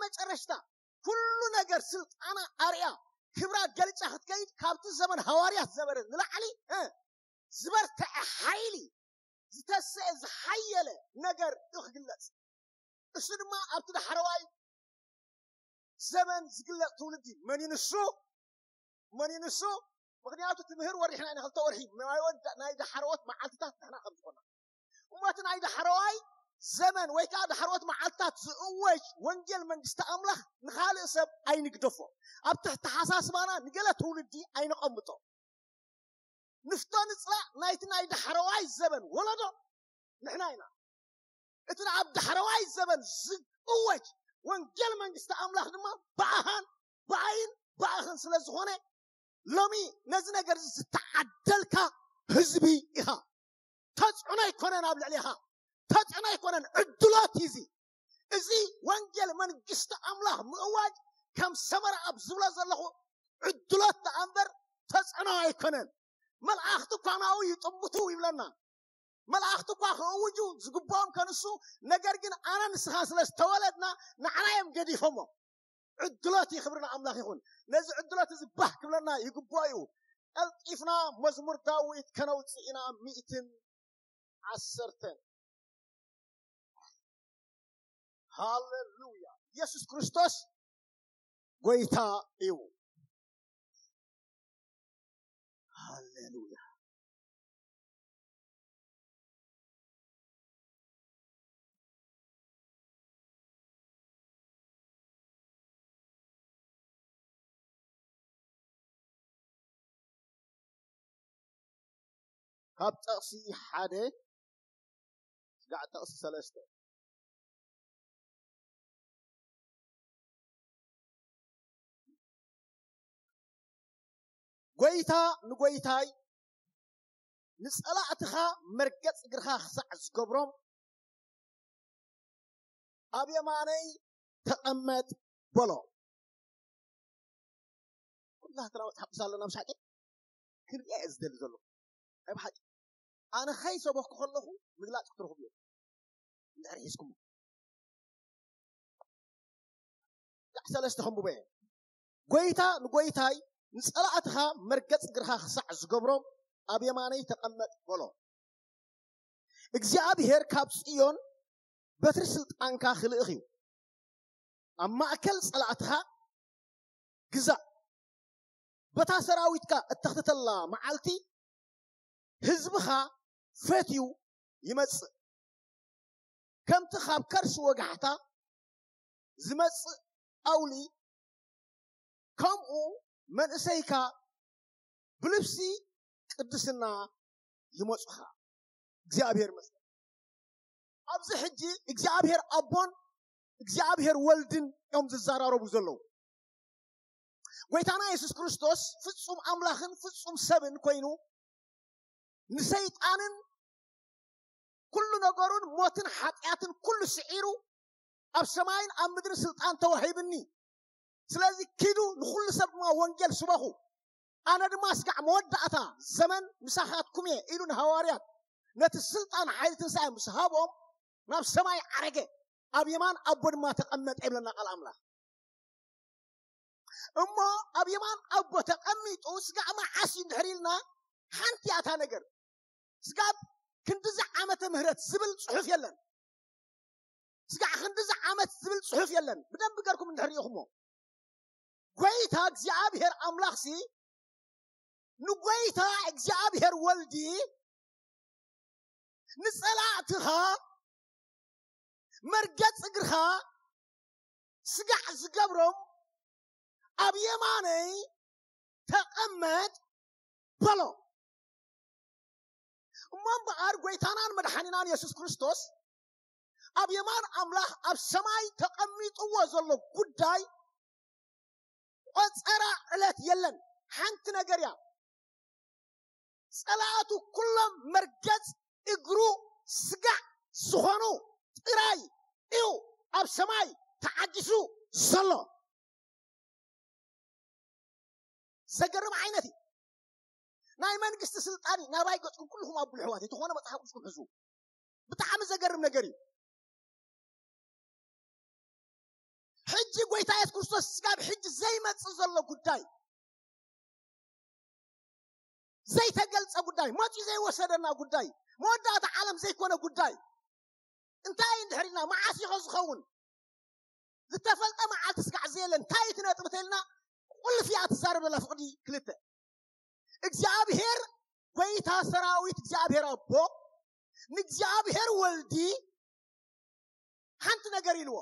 መጨረሽታ ኩሉ ነገር ስልጣና ኣርያ ክብራ ገልጻ ክትከይድ ካብቲ ዘመን ሃዋርያት ዘበረ ንላዕሊ ዝበርትዐ ሓይሊ ዝተሰአ ዝሓየለ ነገር እዩ ክግለጽ። እሱ ድማ ኣብቲ ዳሕረዋይ ዘመን ዝግለጽ ትውልዲ መን እዩ ንሱ? መን እዩ ንሱ? ምክንያቱ ትምህር ወሪሕና ኢና ክልተ ወርሒ ናይ ወዳ ናይ ዳሕረዎት መዓልትታት ንሕና ከም ዝኾና እሞ እቲ ናይ ዳሕረዋይ ዘመን ወይ ከዓ ዳሕረዎት መዓልትታት ዝእወጅ ወንጌል መንግስቲ ኣምላኽ ንኻልእ ሰብ ኣይንግደፎ። ኣብ ትሕቲ ሓሳስባና ንገለ ትውልዲ ኣይነቐምጦ። ንፍቶ ንፅላእ ናይቲ ናይ ዳሕረዋይ ዘበን ወለዶ ንሕና ኢና። እቲ ኣብ ዳሕረዋይ ዘበን ዝእወጅ ወንጌል መንግስቲ ኣምላኽ ድማ ብኣኻን ብኣይን ብኣኽን ስለ ዝኾነ ሎሚ ነዚ ነገር እዚ ዝተዓደልካ ህዝቢ ኢኻ። ተፅዕኖ ኣይኮነን ኣብ ልዕሌኻ፣ ተፅዕኖ ኣይኮነን፣ ዕድሎት እዩ እዚ። እዚ ወንጌል መንግስቲ ኣምላኽ ምእዋጅ ከም ሰመራ ኣብ ዝብሎ ዘለኹ ዕድሎት ደኣ እምበር ተፅዕኖ ኣይኮነን። መላእኽቲ እኳ ናብኡ ይጥምቱ ይብለና። መላእኽቲ እኳ ክእውጁ ዝግብኦም ከንሱ፣ ነገር ግን ኣነ ንስኻ ስለ ዝተወለድና ንዓና እዮም ገዲፎሞ። ዕድሎት እዩ፣ ክብሪ ንኣምላኽ ይኹን። ነዚ ዕድሎት እዚ ባህ ክብለና ይግብኦ እዩ። ቀልጢፍና መዝሙር ዳዊት ከነውፅእ ኢና። ሚእትን ዓሰርተን። ሃሌሉያ። ኢየሱስ ክርስቶስ ጎይታ እዩ። ሃሌሉያ። ካብ ጠቕሲ ሓደ ስጋዕ ጠቕሲ ሰለስተ። ጎይታ ንጎይታይ ንጸላእትኻ መርገጽ እግርኻ ክሳዕ ዝገብሮም ኣብ የማነይ ተቐመጥ በሎ። ኩላትና መጽሓፍ ቅዱስ ኣለና ብሓቂ ክንሪኣ እየ ዝደሊ ዘሎ። ናይ ብሓቂ ኣነ ከይሰበኩ ከለኹ ምግላጽ ክትረኽቡ እዮም። እንድሕር ሒዝኩሞ ዳዕ ሰለስተ ከንብቦ እየ። ጎይታ ንጎይታይ ንጸላእትኻ መርገጽ እግርኻ ክሳዕ ዝገብሮም ኣብ የማነይ ተቐመጥ በሎ። እግዚኣብሔር ካብ ጽዮን በትሪ ስልጣንካ ክልእኽ እዩ። ኣብ ማእከል ጸላእትኻ ግዛእ። በታ ሰራዊትካ እተኽትተላ መዓልቲ ህዝብኻ ፈትዩ ይመጽእ። ከምቲ ካብ ከርሲ ወጋሕታ ዝመጽእ ኣውሊ ከምኡ መንእሰይካ ብልብሲ ቅድስና ይመጹኻ። እግዚኣብሔር ይመስገን። ኣብዚ ሕጂ እግዚኣብሔር ኣቦን እግዚኣብሔር ወልድን እዮም ዝዘራረቡ ዘለዉ። ጎይታና የሱስ ክርስቶስ ፍጹም ኣምላኽን ፍጹም ሰብን ኮይኑ ንሰይጣንን ኩሉ ነገሩን ሞትን ሓጢኣትን ኩሉ ስዒሩ ኣብ ሰማይን ኣብ ምድርን ስልጣን ተዋሂብኒ፣ ስለዚ ኪዱ ንኹሉ ሰብ ድማ ወንጌል ስበኹ፣ ኣነ ድማ ስጋዕ መወዳእታ ዘመን ምሳኻትኩም እየ ኢሉ ንሃዋርያት ነቲ ስልጣን ሓይሊ ትንሳኤ ምስ ሃቦም ናብ ሰማይ ዓረገ፣ ኣብ የማን ኣቦ ድማ ተቐመጠ ይብለና ቃል ኣምላኽ። እሞ ኣብ የማን ኣቦ ተቐሚጡ ስጋዕ መዓስ እዩ እንድሕር ኢልና ሓንቲ እያ እታ ነገር። ስጋብ ክንድዚ ዓመተ ምህረት ዝብል ጽሑፍ የለን። ስጋዕ ክንድዚ ዓመት ዝብል ጽሑፍ የለን። ብደንብ ገርኩም እንድሕር ርኢኹሞ ጎይታ እግዚኣብሔር ኣምላኽሲ ንጎይታ እግዚኣብሔር ወልዲ ንጸላእትኻ መርገጽ እግርኻ ስጋዕ ዝገብሮም ኣብ የማነይ ተቐመጥ በሎ። እሞ እምበኣር ጎይታናን መድሓኒናን የሱስ ክርስቶስ ኣብ የማን ኣምላኽ ኣብ ሰማይ ተቐሚጥዎ ዘሎ ጉዳይ ቆጸራ ዕለት የለን። ሓንቲ ነገር እያ። ጸላእቱ ኩሎም መርገጽ እግሩ ስጋዕ ዝኾኑ ጥራይ እዩ ኣብ ሰማይ ተዓጊሱ ዘሎ። ዘገርም ዓይነት እዩ። ናይ መንግስቲ ስልጣን እዩ። ናባይ ገጽኩም ኩልኹም ኣብሉ ኣሕዋት፣ የተኾነ መጽሓፍ ቅዱስኩም ሕዙ። ብጣዕሚ ዘገርም ነገር እዩ። ሕጂ ጎይታ የሱስ ክርስቶስ ስጋብ ሕጂ ዘይመጽእ ዘሎ ጉዳይ፣ ዘይተገልጸ ጉዳይ፣ መጺኡ ዘይወሰደና ጉዳይ፣ መወዳእታ ዓለም ዘይኮነ ጉዳይ እንታይ እንድሕር ኢልና፣ መዓስ ኢኸ ዝኸውን? ዝተፈልጠ መዓልቲ ስጋዕ ዘየለ እንታይ እቲ ነጥቢ ተልና? ቁልፍ እያ ትዛረብ ዘላ ፍቕዲ ክልተ። እግዚኣብሔር ጎይታ ሰራዊት እግዚኣብሔር ኣቦ ንእግዚኣብሔር ወልዲ ሓንቲ ነገር ኢልዎ፣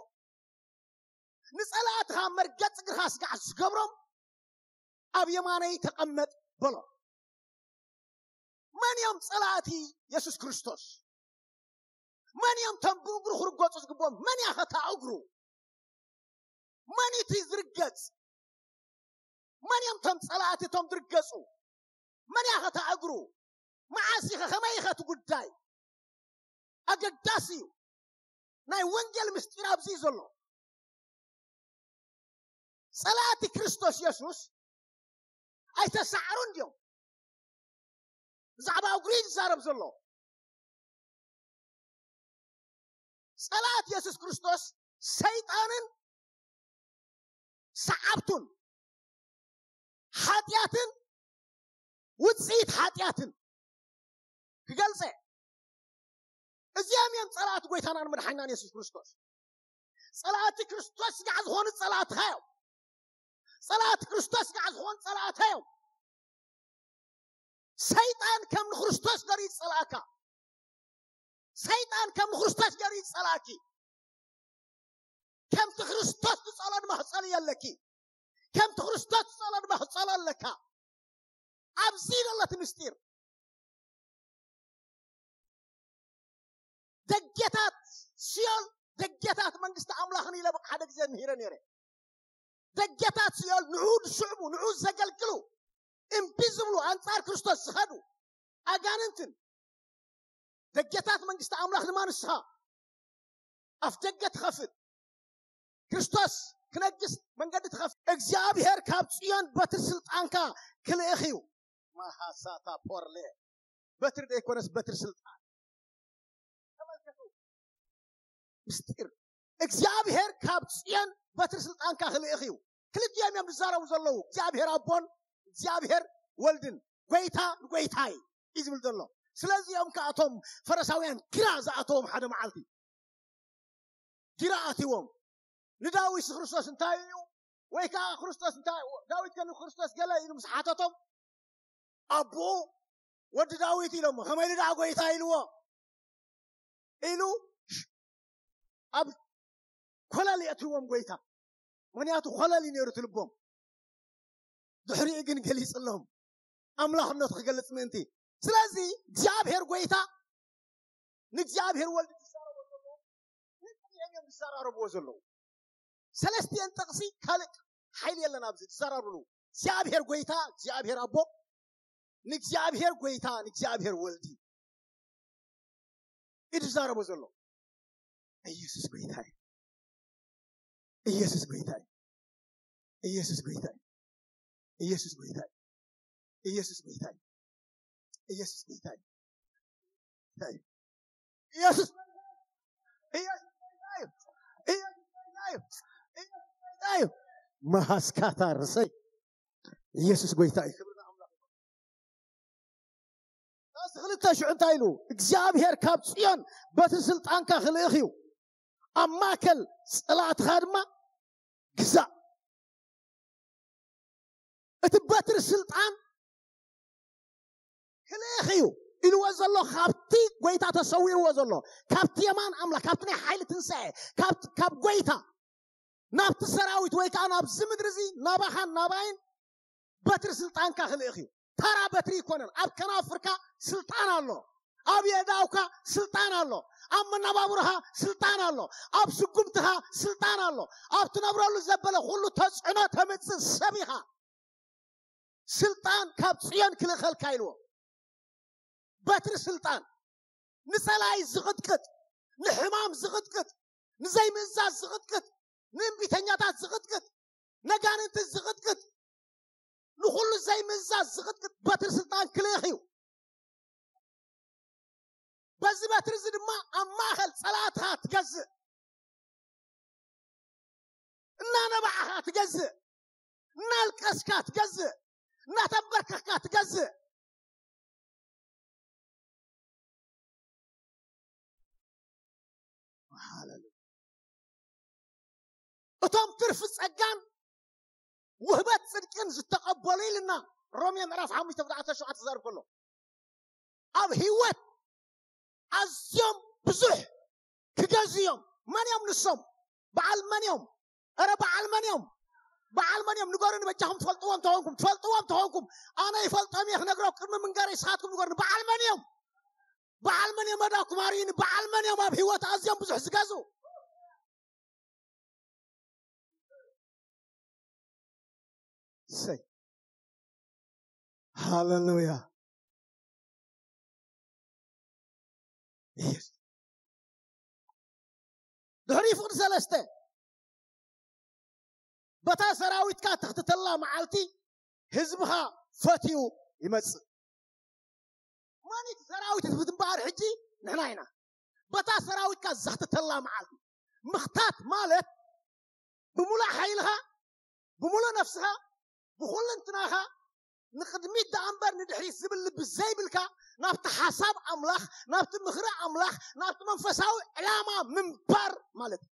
"ንጸላእትኻ መርገጽ እግርኻ ስጋዕ ዝገብሮም ኣብ የማነይ ተቐመጥ" በሎ። መን እዮም ጸላእቲ የሱስ ክርስቶስ? መን እዮም ቶም ብእግሩ ክርገጹ ዝግብኦም? መን እያ ኸታ እግሩ? መን እቲ ዝርገጽ? መን እዮም ቶም ጸላእቲ እቶም ዝርገጹ? መን እያ ኸታ እግሩ? መዓስ ኢኸ? ከመይ ኢኸ እቲ ጉዳይ? ኣገዳሲ እዩ። ናይ ወንጌል ምስጢር ኣብዚ እዩ ዘሎ። ጸላእቲ ክርስቶስ የሱስ ኣይተሳዕሩን ድዮም? ብዛዕባ እግሩ እዩ ዝዛረብ ዘሎ። ጸላእቲ የሱስ ክርስቶስ ሰይጣንን ሰዓብቱን፣ ሓጢኣትን ውጽኢት ሓጢኣትን ክገልጸ፣ እዚኦም እዮም ጸላእቲ ጎይታናን መድሓኒናን የሱስ ክርስቶስ። ጸላእቲ ክርስቶስ ስጋዕ ዝኾኑ ጸላእትኻ እዮም። ጸላእቲ ክርስቶስ ስጋዕ ዝኾኑ ጸላእትኻ እዮም። ሰይጣን ከም ንክርስቶስ ገይሩ ይጸላእካ። ሰይጣን ከም ንክርስቶስ ገይሩ ይጸላእኪ። ከምቲ ክርስቶስ ትጸሎ ድማ ክጸልዮ ኣለኪ። ከምቲ ክርስቶስ ትጸሎ ድማ ክጸሎ ኣለካ። ኣብዚ ዘሎ እቲ ምስጢር። ደገታት ሲኦል፣ ደገታት መንግስቲ ኣምላኽን ኢለ ብቅ ሓደ ግዜ ምሂረ ነይረ። ደገታት ሲኦል ንዑ ዝስዕቡ፣ ንዑ ዘገልግሉ፣ እምቢ ዝብሉ፣ ኣንጻር ክርስቶስ ዝኸዱ ኣጋንንትን፣ ደገታት መንግስቲ ኣምላኽ ድማ ንስኻ ኣፍ ደገ ትኸፍት። ክርስቶስ ክነግስ መንገዲ ትኸፍት። እግዚኣብሔር ካብ ጽዮን በትሪ ስልጣንካ ክልእኽ እዩ። ማሃሳታ ፖርሌ፣ በትሪ ዘይኮነስ በትሪ ስልጣን። ተመልከቱ ምስጢር። እግዚኣብሔር ካብ ጽዮን በትሪ ስልጣንካ ክልእኽ እዩ። ክልቲኦም እዮም ዝዛረቡ ዘለዉ፣ እግዚኣብሔር ኣቦን እግዚኣብሔር ወልድን። ጎይታ ንጎይታይ እዩ ዝብል ዘሎ። ስለዚ እዮም ከኣቶም ፈረሳውያን ግራ ዝኣተዎም ሓደ መዓልቲ። ግራ ኣትዎም። ንዳዊት ክርስቶስ እንታይ እዩ? ወይ ከዓ ክርስቶስ እንታይ፣ ዳዊት ከ ንክርስቶስ ገለ ኢሉ ምስ ሓተቶም፣ ኣቦኡ ወዲ ዳዊት ኢሎሞ፣ ከመይ ኢሉ ደኣ ጎይታ ኢልዎ ኢሉ ኣብ ኮለል የእትዎም ጎይታ። ምክንያቱ ኮለል እዩ ነይሩ እቲ ልቦም። ድሕሪኡ ግን ገሊጽሎም፣ ኣምላኽነቱ ክገልጽ ምእንቲ። ስለዚ እግዚኣብሔር ጎይታ ንእግዚኣብሔር ወልድ ዝዛረቦ ዘሎ፣ ንእግዚኣብሔር እዮም ዝዘራረብዎ ዘለዉ። ሰለስቲአን ጥቕሲ ካልእ ሓይሊ የለን ኣብዚ ዝዘራረብሉ። እግዚኣብሔር ጎይታ፣ እግዚኣብሔር ኣቦ፣ ንእግዚኣብሔር ጎይታ፣ ንእግዚኣብሔር ወልዲ እዩ ዝዛረቦ ዘሎ። ኢየሱስ ጎይታ እዩ። ኢየሱስ ጎይታ እዩ። ኢየሱስ ጎይታ እዩ። ኢየሱስ ጎይታ እዩ። ኢየሱስ ጎይታ እዩ። ኢየሱስ ጎይታ እዩ። ኢየሱስ ኢየሱስ ጎይታ እዩ። ኢየሱስ ጎይታ እዩ። ኢየሱስ ጎይታ እዩ። መሃስካታ ርሰይ ኢየሱስ ጎይታ እዩ። ክብሪ ንኣምላኽ። ዳዊት ክልተ ሽዑ እንታይ ኢሉ? እግዚኣብሔር ካብ ጽዮን በትሪ ስልጣንካ ክልእኽ እዩ፣ ኣብ ማእከል ጸላእትኻ ድማ ግዛእ። እቲ በትሪ ስልጣን ክልእኽ እዩ ኢልዎ ዘሎ፣ ካብቲ ጎይታ ተሰዊርዎ ዘሎ፣ ካብቲ የማን ኣምላኽ፣ ካብቲ ናይ ሓይሊ ትንሳኤ፣ ካብ፣ ካብ ጎይታ ናብቲ ሰራዊት ወይ ከዓ ናብዚ ምድሪ እዚ ናባኻን ናባይን በትሪ ስልጣንካ ክልእኽ እዩ። ተራ በትሪ ይኮነን። ኣብ ከናፍርካ ስልጣን ኣሎ። ኣብ የእዳውካ ስልጣን ኣሎ። ኣብ መነባብሮኻ ስልጣን ኣሎ። ኣብ ስጉምትኻ ስልጣን ኣሎ። ኣብ ትነብረሉ ዘበለ ኩሉ ተጽዕኖ ተምጽእ ሰብ ኢኻ። ስልጣን ካብ ጽዮን ክልእኸልካ ኢልዎ። በትሪ ስልጣን ንጸላኢ ዝቕጥቅጥ፣ ንሕማም ዝቕጥቅጥ፣ ንዘይምእዛዝ ዝቕጥቅጥ፣ ንእምቢተኛታት ዝቕጥቅጥ፣ ነጋንንቲ ዝቕጥቅጥ፣ ንኹሉ ዘይምእዛዝ ዝቕጥቅጥ በትሪ ስልጣን ክልእኽ እዩ። በዚ በትሪ እዚ ድማ ኣብ ማእከል ጸላእትኻ ትገዝእ። እናነባዕኻ ትገዝእ፣ እናልቀስካ ትገዝእ፣ እናተንበርከኽካ ትገዝእ። ሃሌሉያ። እቶም ትርፊ ጸጋን ውህበት ጽድቅን ዝተቐበሉ ኢልና ሮሜ ምዕራፍ ሓሙሽተ ቁጥሪ ዓሰርተ ሸውዓተ ክዛረብ ከሎ፣ ኣብ ህይወት ኣዝዮም ብዙሕ ክገዝኡ እዮም። መን እዮም ንሶም? በዓል መን እዮም? ኧረ በዓል መን እዮም? በዓል መን እዮም? ንገሩኒ በጃኹም፣ ትፈልጥዎም ተኾንኩም፣ ትፈልጥዎም ተኾንኩም። ኣነ ይፈልጦም እየ ክነግረኩም፣ ቅድሚ ምንጋረይ ንስኻትኩም ንገሩኒ። በዓል መን እዮም? በዓል መን እዮም? መዳኩም ኣርእዩኒ። በዓል መን እዮም ኣብ ህይወት ኣዝዮም ብዙሕ ዝገዝኡ? እሰይ። ሃሌሉያ። ኢየሱስ። ድሕሪ ፍቕዲ ሰለስተ፣ በታ ሰራዊትካ ትኽትተላ መዓልቲ ህዝብኻ ፈትዩ ይመጽእ። ማን እቲ ሰራዊት? ህዝቢ እምበኣር ሕጂ ንሕና ኢና። በታ ሰራዊትካ ዘኽትተላ መዓልቲ። ምኽታት ማለት ብምሉእ ሓይልኻ፣ ብምሉእ ነፍስኻ፣ ብኹልንትናኻ ንቕድሚት ደኣ እምበር ንድሕሪት ዝብል ልቢ ዘይብልካ፣ ናብቲ ሓሳብ ኣምላኽ፣ ናብቲ ምኽሪ ኣምላኽ፣ ናብቲ መንፈሳዊ ዕላማ ምንባር ማለት እዩ።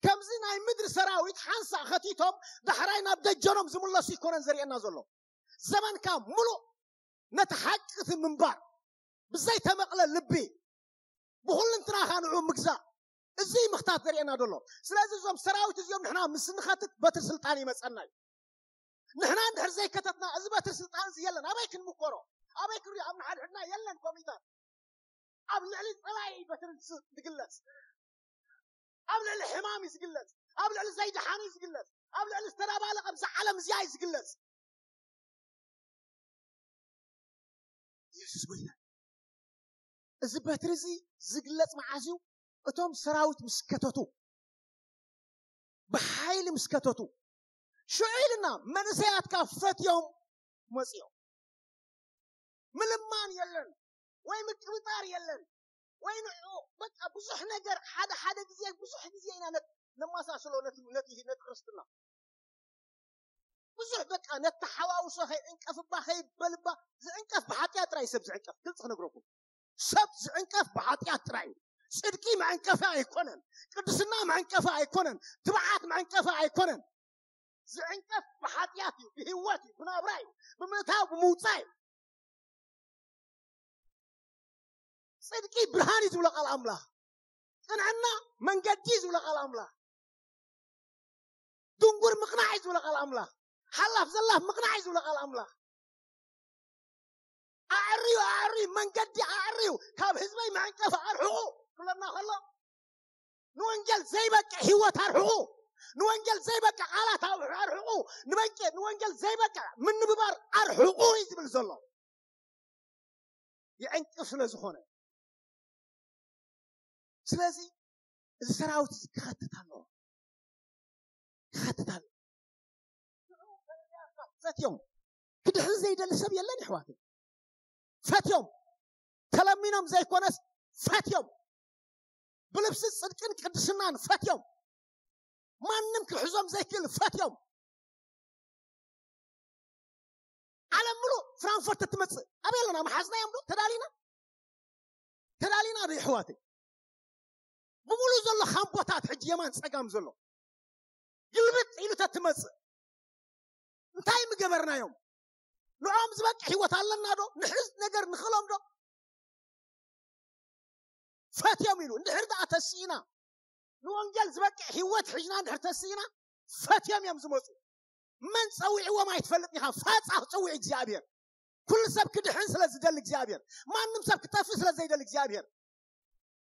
ከምዚ ናይ ምድሪ ሰራዊት ሓንሳእ ኸቲቶም ዳሕራይ ናብ ደጀኖም ዝምለሱ ኣይኮነን ዘርእየና ዘሎ። ዘመንካ ምሉእ ነቲ ሓቂ እቲ ምንባር፣ ብዘይተመቕለ ልቢ፣ ብኹልንትናኻ ንዑ ምግዛእ፣ እዚ ምኽታት ዘርእየና ዘሎ። ስለዚ እዞም ሰራዊት እዚኦም ንሕና ምስ ንኸትት በትሪ ስልጣን ይመጸና እዩ። ንሕና እንድሕር ዘይከተትና፣ እዚ በትሪ ስልጣን እዚ የለን። ኣበይ ክንምኮሮ? ኣበይ ክንሪኦ? ኣብ ንሓድሕድና የለን ኮሚታት። ኣብ ልዕሊ ጸላኢ እዩ በትሪ ስ-፣ ዝግለጽ። ኣብ ልዕሊ ሕማም እዩ ዝግለጽ። ኣብ ልዕሊ ዘይደሓኑ እዩ ዝግለጽ። ኣብ ልዕሊ ዝተደባለቐ ኣብዚ ዓለም እዚኣ እዩ ዝግለጽ። ኢየሱስ ጎይታ። እዚ በትሪ እዚ ዝግለጽ መዓዝ እዩ? እቶም ሰራዊት ምስ ከተቱ፣ ብሓይሊ ምስ ከተቱ፣ ሽዑ ኢልና መንእሰያትካ ፈትዮም መጽዮም። ምልማን የለን ወይ ምቅብጣር የለን ወይ ንዑ፣ በቃ ብዙሕ ነገር ሓደ ሓደ ግዜ፣ ብዙሕ ግዜ ኢና ነት-፣ ነማሳስሎ ነቲ፣ ነቲ፣ ነቲ ክርስትና። ብዙሕ በቃ ነተሓዋውሶ፣ ከይዕንቀፍባ ከይበልባ። ዝዕንቀፍ ብሓጢኣት ጥራይ ሰብ ዝዕንቀፍ። ግልጽ ክነግረኩም፣ ሰብ ዝዕንቀፍ ብሓጢኣት ጥራይ እዩ። ጽድቂ መዕንቀፊ ኣይኮነን። ቅድስና መዕንቀፊ ኣይኮነን። ትብዓት መዕንቀፊ ኣይኮነን። ዝዕንቀፍ ብሓጢኣት እዩ፣ ብህይወት እዩ፣ ብናብራ እዩ፣ ብምእታው ብምውጻእ እዩ። ጽድቂ ብርሃን እዩ ዝብሎ ቃል ኣምላኽ። ቅንዕና መንገዲ እዩ ዝብሎ ቃል ኣምላኽ። ድንጉር ምቕናዕ እዩ ዝብሎ ቃል ኣምላኽ። ሓላፍ ዘላፍ ምቕናዕ እዩ ዝብሎ ቃል ኣምላኽ። ኣዕርዩ፣ ኣዕርዩ፣ መንገዲ ኣዕርዩ፣ ካብ ህዝበይ መዕንቀፊ ኣርሕቑ ክብለና ከሎ፣ ንወንጌል ዘይበቅዕ ህይወት ኣርሕቑ፣ ንወንጌል ዘይበቅዕ ቃላት ኣርሕቑ፣ ንበቂ-፣ ንወንጌል ዘይበቅዕ ምንብባር ኣርሕቑ እዩ ዝብል ዘሎ። ይዕንቅፍ ስለ ዝኾነ። ስለዚ እዚ ሰራዊት እዚ ክኸትት ኣለዎ። ክኸትት ኣለዎ። ፈትዮም። ክድሕን ዘይደሊ ሰብ የለን፣ ይሕዋተይ። ፈትዮም። ተለሚኖም ዘይኮነስ፣ ፈትዮም። ብልብሲ ጽድቅን ቅድስናን ፈትዮም። ማንም ክሕዞም ዘይክእል ፈትዮም። ዓለም ምሉእ ፍራንክፈርት እትመጽእ ኣበይ ኣለና? መሓዝና እዮም ዶ? ተዳሊና? ተዳሊና ዶ ይሕዋተይ? ብምሉእ ዘሎ ካምቦታት ሕጂ የማን ጸጋም ዘሎ ግልብጥ ኢሉ ተትመጽእ እንታይ ምገበርናዮም? ንዖም ዝበቅዕ ህይወት ኣለና ዶ? ንሕዝ ነገር ንኽሎም ዶ? ፈትዮም ኢሉ እንድሕር ደኣ ተስኢና፣ ንወንጌል ዝበቅዕ ህይወት ሒዝና እንድሕር ተስኢና፣ ፈትዮም እዮም ዝመጹ። መን ጸዊዕዎም ኣይትፈልጥን ኢኻ። ፋጻ ክጽውዕ እግዚኣብሔር። ኩሉ ሰብ ክድሕን ስለ ዝደሊ እግዚኣብሔር፣ ማንም ሰብ ክጠፍእ ስለ ዘይደሊ እግዚኣብሔር፣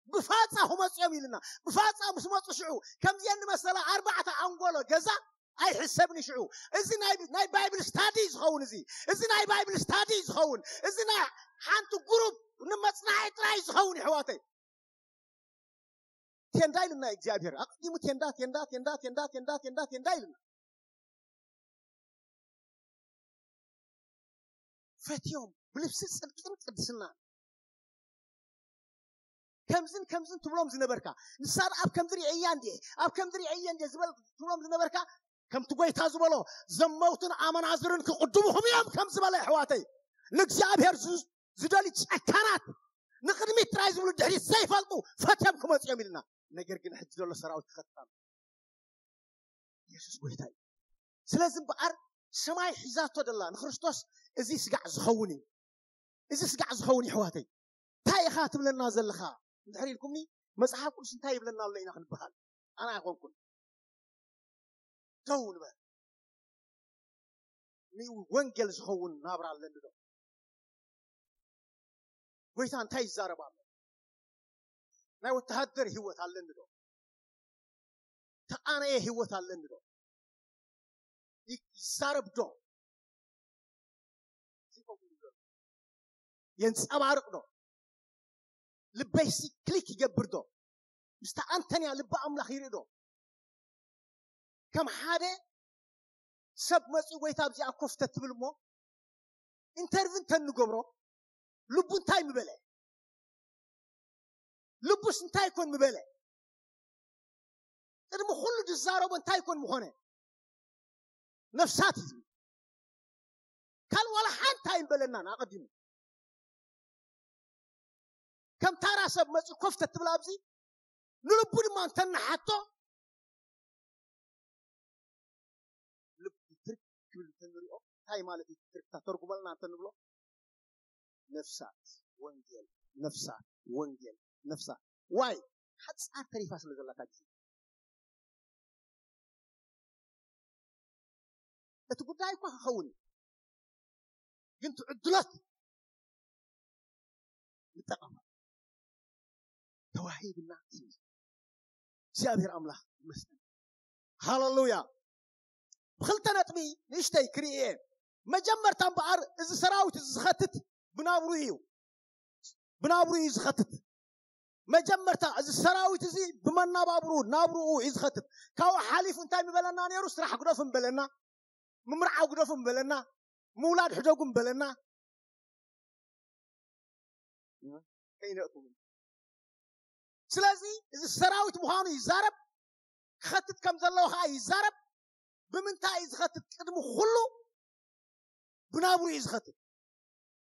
ብፋጻ ክመጹ እዮም ኢልና። ብፋጻ ምስ መጹ ሽዑ ከምዚአን ዝመሰላ ኣርባዕተ ኣንጎሎ ገዛ ኣይሕሰብን ሽዑ። እዚ ናይ፣ ናይ ባይብል ስታዲ ዝኸውን፣ እዚ፣ እዚ ናይ ባይብል ስታዲ ዝኸውን፣ እዚ ናይ ሓንቲ ግሩፕ ንመጽናዒ ጥራይ ዝኸውን፣ ይሕዋተይ። ቴንዳ ኢልና እግዚኣብሔር። ኣቐዲሙ ቴንዳ፣ ቴንዳ፣ ቴንዳ፣ ቴንዳ፣ ቴንዳ፣ ቴንዳ፣ ቴንዳ ኢልና። ፈትዮም ብልብሲ ጽድቅን ቅድስና። ከምዝን ከምዝን ትብሎም ዝነበርካ፣ ንሳ ደኣ ኣብ ከምዚ ርእየያ እንድየ፣ ኣብ ከምዚ ርእየየ እንድየ ዝበል ትብሎም ዝነበርካ፣ ከምቲ ጎይታ ዝበሎ፣ ዘመውትን ኣመናዝርን ክቕድሙኹም እዮም ከም ዝበለ፣ ኣሕዋተይ፣ ንእግዚኣብሔር ዝ-፣ ዝደልዩ ጨካናት፣ ንቕድሚት ጥራይ ዝብሉ፣ ድሕሪት ዘይፈልጡ ፈትዮም ክመጹ እዮም ኢልና። ነገር ግን ሕጂ ዘሎ ሰራዊት ክኸትታም የሱስ ጎይታ እዩ። ስለዚ እምበኣር ሰማይ ሒዛቶ ደላ ንክርስቶስ፣ እዚ ስጋዕ ዝኸውን እዩ። እዚ ስጋዕ ዝኸውን እዩ፣ ኣሕዋተይ። እንታይ ኢኻ ትብለና ዘለኻ እንድሕር ኢልኩምኒ፣ መጽሓፍ ቅዱስ እንታይ ይብለና ኣሎ ኢና ክንበሃል? ኣነ ኣይኮንኩን። ደው ንበል። ንወንጌል ዝኸውን ናብራ ኣለኒ ዶ? ጎይታ እንታይ ይዛረብ ኣሎ? ናይ ወተሃደር ህይወት ኣለኒ ዶ? ተቓነየ ህይወት ኣለኒ ዶ? ይ-፣ ይዛረብ ዶ? የንጸባርቕ ዶ? ልበይሲ ክሊክ ይገብር ዶ? ምስታ ኣንተንያ ልቢ ኣምላኽ ይርኢ ዶ? ከም ሓደ ሰብ መጺኡ፣ ጎይታ ኣብዚኣ ኮፍ ተትብል እሞ፣ ኢንተርቪው እንተንገብሮ፣ ልቡ እንታይ ምበለ? ልቡስ እንታይ ኮን ምበለ? ቅድሚ ኩሉ ዝዛረቦ እንታይ ኮን ምኾነ? ነፍሳት እዩ ዝብል። ካልእ ዋላ ሓንቲ ኣይምበለናን ኣቐዲሙ። ከም ታራ ሰብ መጺኡ ኮፍ ተትብል ኣብዚ፣ ንልቡ ድማ እንተንሓቶ፣ ልቡ ትርክ ክብል እንተንሪኦ፣ እንታይ ማለት እዩ? ትርክታ ተርጉመልና እንተንብሎ፣ ነፍሳት ወንጌል፣ ነፍሳት ወንጌል፣ ነፍሳት። ዋይ፣ ሓጻር ተሪፋ ስለ ዘላታ ግዜ። እቲ ጉዳይ እኳ ክኸውን እዩ፣ ግን ትዕድሎት ንጠቐማ። ተዋሂብና እዩ። እግዚኣብሔር ኣምላኽ ይመስገን። ሃሌሉያ። ብኽልተ ነጥቢ ንእሽተይ ክርኢ እየ። መጀመርታ እምበኣር፣ እዚ ሰራዊት እዚ ዝኸትት ብናብሩ እዩ። ብናብሩ እዩ ዝኸትት። መጀመርታ እዚ ሰራዊት እዚ ብመናባብሩ፣ ናብርኡ እዩ ዝኸትት። ካብኡ ሓሊፉ እንታይ ምበለና ነይሩ? ስራሕ ግደፉ ምበለና፣ ምምርዓው ግደፉ ምበለና፣ ምውላድ ሕደጉ ምበለና። ከይነእኩም። ስለዚ እዚ ሰራዊት ምዃኑ ይዛረብ፣ ክኸትት ከም ዘለዎ ኸዓ ይዛረብ። ብምንታይ እዩ ዝኸትት? ቅድሚ ኩሉ ብናብሩ እዩ ዝኸትት።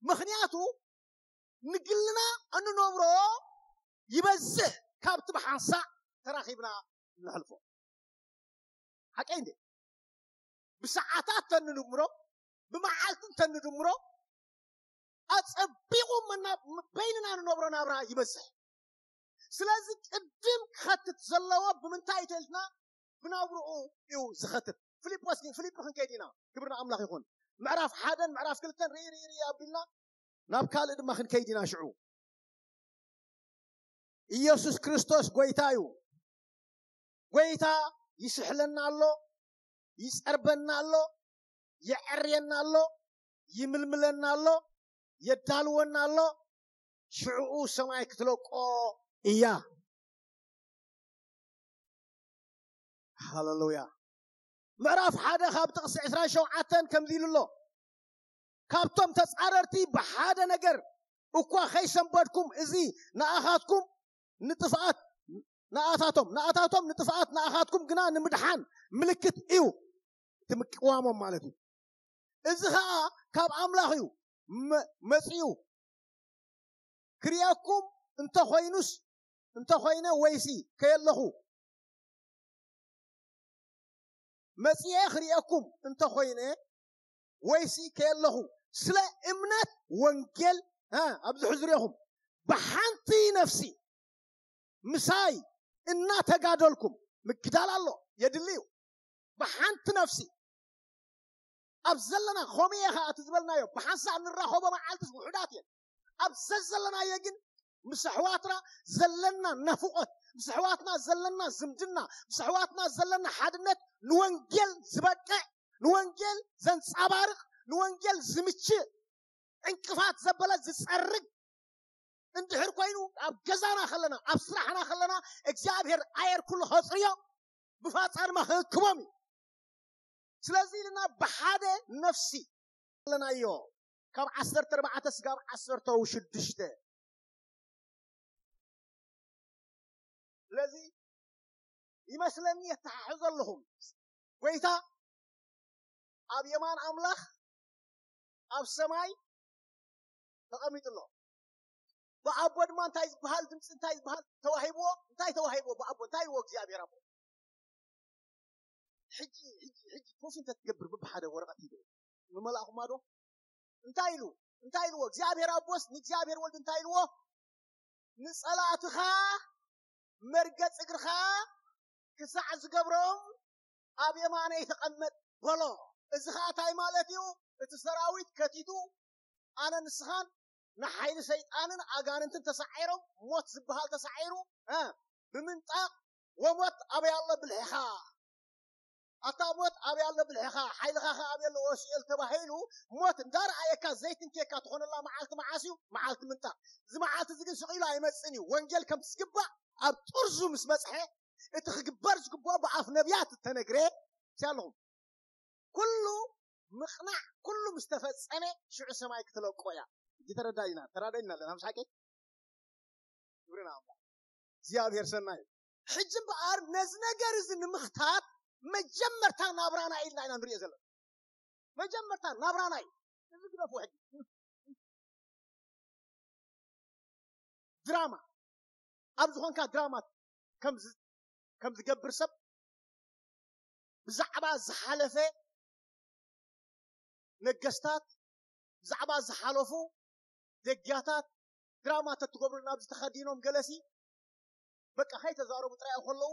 ምኽንያቱ ንግልና እንነብሮ ይበዝሕ ካብቲ ብሓንሳእ ተራኺብና እንሕልፎ። ሓቀይ እንዴ? ብሰዓታት ተንድምሮ፣ ብመዓልቲ እንተንድምሮ፣ ኣጸቢቑ መና-፣ በይንና ንነብሮ ናብራ ይበዝሕ። ስለዚ ቅድም ክኸትት ዘለዎ ብምንታይ እዩ ተልና? ብናብርኡ እዩ ዝኸትት። ፊልጶስ ግን፣ ፊልጶስ ክንከይድ ኢና። ክብሪ ንኣምላኽ ይኹን። ምዕራፍ ሓደን ምዕራፍ ክልተን ርኢ፣ ርኢ፣ ርኢ ኣቢልና ናብ ካልእ ድማ ክንከይድ ኢና ሽዑ። ኢየሱስ ክርስቶስ ጎይታ እዩ። ጎይታ ይስሕለና ኣሎ፣ ይጸርበና ኣሎ፣ የዐርየና ኣሎ፣ ይምልምለና ኣሎ፣ የዳልወና ኣሎ። ሽዕኡ ሰማይ ክትለቆ እያ። ሃሌሉያ። ምዕራፍ ሓደ ካብ ጥቕሲ ዕስራን ሸውዓተን ከምዚ ኢሉ ኣሎ። ካብቶም ተጻረርቲ ብሓደ ነገር እኳ ከይሰንበድኩም፣ እዚ ንኣኻትኩም ንጥፍኣት፣ ንኣታቶም፣ ንኣታቶም ንጥፍኣት፣ ንኣኻትኩም ግና ንምድሓን ምልክት እዩ። እቲ ምቅዋሞም ማለት እዩ። እዚ ኸኣ ካብ ኣምላኽ እዩ መ-፣ መጺኡ። ክርእየኩም እንተኾይኑስ፣ እንተኾይነ ወይሲ ከየለኹ፣ መጺኤ ክርእየኩም እንተኾይነ ወይሲ ከየለኹ፣ ስለ እምነት ወንጌል፣ እ፣ ኣብዚ ሕዝሬኹም ብሓንቲ ነፍሲ ምሳይ እናተጋደልኩም፣ ምግዳል ኣሎ፣ የድሊ እዩ። ብሓንቲ ነፍሲ ኣብ ዘለና፣ ከምኡ እየ ኸዓ እቲ ዝበልናዮ፣ ብሓንሳእ እንራኸቦ መዓልትስ ውሑዳት እየን። ኣብ ዘዘለናዮ ግን ምስ ኣሕዋትና ዘለና ናፍቖት፣ ምስ ኣሕዋትና ዘለና ዝምድና፣ ምስ ኣሕዋትና ዘለና ሓድነት ንወንጌል ዝበቅዕ፣ ንወንጌል ዘንጸባርቕ፣ ንወንጌል ዝምችእ፣ ዕንቅፋት ዘበለ ዝጸርግ እንድሕር ኮይኑ፣ ኣብ ገዛና ከለና፣ ኣብ ስራሕና ከለና፣ እግዚኣብሔር ኣየር ኩሉ ከጽርዮ፣ ብፋጻ ድማ ክእክቦም እዩ። ስለዚ ኢልና ብሓደ ነፍሲ ኣለናዮ። ካብ ዓሰርተ ኣርባዕተ ስጋብ ዓሰርተ ሽዱሽተ። ስለዚ ይመስለኒ የተሓሕዞ ኣለኹም። ጎይታ ኣብ የማን ኣምላኽ ኣብ ሰማይ ተቐሚጡ ኣሎ። ብኣቦ ድማ እንታይ ዝበሃል ድምፂ እንታይ ዝበሃል ተዋሂብዎ? እንታይ ተዋሂብዎ? ብኣቦ እንታይ ይዎ እግዚኣብሔር ኣቦ? ሕጂ ሕጂ ሕጂ ኮፊ እንተትገብር ብብሓደ ወረቐት ይደ ንመላእኹማ ዶ እንታይ ኢሉ እንታይ ኢልዎ? እግዚኣብሔር ኣቦስ ንእግዚኣብሔር ወልድ እንታይ ኢልዎ? ንጸላእትኻ መርገጽ እግርኻ ክሳዕ ዝገብሮም ኣብ የማነይ ተቐመጥ በሎ። እዚ ኸዓ እንታይ ማለት እዩ? እቲ ሰራዊት ከቲቱ ኣነ ንስኻን ንሓይሊ ሰይጣንን ኣጋንንትን ተሳዒሮም ሞት ዝበሃል ተሳዒሩ እ፣ ብምንጣቕ ወሞት ኣበይ ኣሎ ብልሕኻ ኣታ ሞት ኣበይ ኣሎ ብልሕኻ ሓይልኻ ኸ ኣበይ ኣሎ ወሲኤል ተባሂሉ ሞት እንዳረኣየካ ዘይትንኬካ ትኾነላ መዓልቲ መዓስ እዩ? መዓልቲ ምንጣቕ። እዚ መዓልቲ እዚ ግን ስቕ ኢሉ ኣይመፅን እዩ። ወንጌል ከምቲ ዝግባእ ኣብ ጥርዙ ምስ በፅሐ እቲ ክግበር ዝግብኦ ብኣፍ ነቢያት እተነግረ ኣለኹም ኩሉ ምቕናዕ ኩሉ ምስ ተፈጸመ ሽዑ ሰማይ ክትለቆ እያ። እጅ ተረዳይና ተራዳይና ኣለና ምስ ሓቂ ግብርና ኣምላኽ እግዚኣብሔር ሰናይ እዩ። ሕጂ እምበኣር ነዚ ነገር እዚ ንምኽታት መጀመርታ ናብራና ኢልና ኢና ንሪኦ ዘለና። መጀመርታ ናብራና እዩ። እዚ ግደፉ ሕጂ ድራማ ኣብ ዝኾንካ ድራማ ከም ዝ- ከም ዝገብር ሰብ ብዛዕባ ዝሓለፈ ነገስታት ብዛዕባ ዝሓለፉ ደግያታት ድራማ ተትገብሩ ናብ ዝተኸዲኖም ገለሲ በቃ ከይተዛረቡ ጥራይ ከለዉ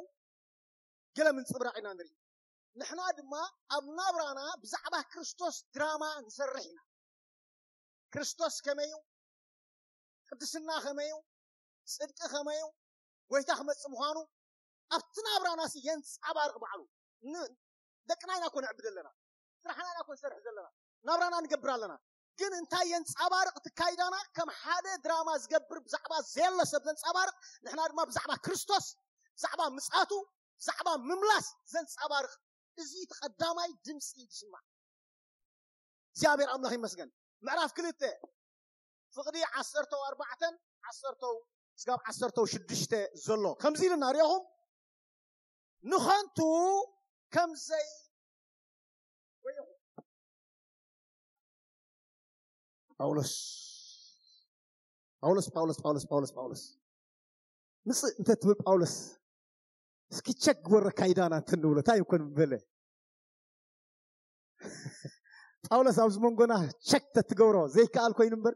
ገለ ምንፅብራቕ ኢና ንርኢ። ንሕና ድማ ኣብ ናብራና ብዛዕባ ክርስቶስ ድራማ ንሰርሕ ኢና። ክርስቶስ ከመይ እዩ? ቅድስና ከመይ እዩ? ጽድቂ ከመይ እዩ? ጎይታ ክመጽእ ምዃኑ ኣብቲ ናብራና ሲ የንጻባርቕ ባዕሉ። ን- ደቅና ኢና ኮ ነዕብድ ኣለና፣ ስራሕና ኢና ኮ ንሰርሕ ዘለና፣ ናብራና ንገብር ኣለና። ግን እንታይ የንጻባርቕ እቲ ካይዳና? ከም ሓደ ድራማ ዝገብር ብዛዕባ ዘየሎ ሰብ ዘንጻባርቕ፣ ንሕና ድማ ብዛዕባ ክርስቶስ፣ ብዛዕባ ምጻቱ፣ ብዛዕባ ምምላስ ዘንጻባርቕ። እዚ እቲ ቀዳማይ ድምፂ እዩ ዝስማዕ። እግዚኣብሔር ኣምላኽ ይመስገን። ምዕራፍ ክልተ ፍቕዲ ዓሰርተው ኣርባዕተን ዓሰርተው ስጋብ ዓሰርተው ሽዱሽተ ዘሎ ከምዚ ኢልና ሪኦኹም ንኸንቱ ከምዘይ ጳውሎስ ጳውሎስ ጳውሎስ ጳውሎስ ጳውሎስ ጳውሎስ ምፅእ እንተ ትብል ጳውሎስ እስኪ ቸክ ግበረ ካይዳና እንተ ንብሎ እንታይ ይኮን በለ ጳውሎስ ኣብዚ መንጎና ቸክ ተትገብሮ ዘይከኣል ኮይኑ እምበር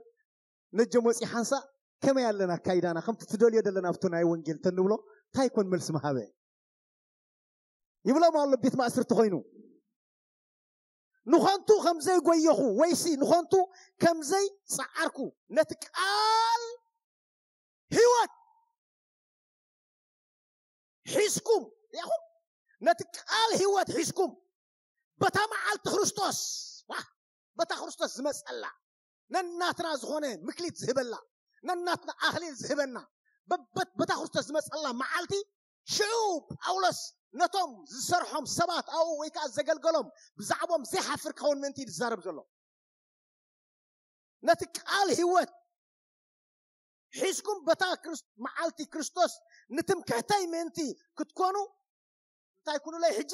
ነጀም ወፂ ሓንሳእ ከመይ ኣለና ኣካይዳና ከምቲ ትደልዮ ዘለና ኣብቲ ናይ ወንጌል ተንብሎ እንታይ ኮን መልሲ ምሃበ ይብሎም ኣሎ ቤት ማእስርቲ ኮይኑ ንኸንቱ ከምዘይ ጎየኹ ወይሲ ንኸንቱ ከምዘይ ጸዓርኩ ነቲ ቃል ህይወት ሒዝኩም ሪኹም ነቲ ቃል ህይወት ሒዝኩም በታ መዓልቲ ክርስቶስ በታ ክርስቶስ ዝመፀላ ነናትና ዝኾነ ምክሊት ዝህበላ ነናትና ኣኽሊል ዝህበና በታ ክርስቶስ ዝመፀላ መዓልቲ ሽዑ ጳውሎስ ነቶም ዝሰርሖም ሰባት ኣብኡ ወይ ከዓ ዘገልገሎም ብዛዕቦም ዘይሓፍር ክኸውን ምእንቲ እዩ ዝዛረብ ዘሎ ነቲ ቃል ህይወት ሒዝኩም በታ መዓልቲ ክርስቶስ ንትምክሕተይ ምእንቲ ክትኮኑ እንታይ ኩኑለይ ሕጂ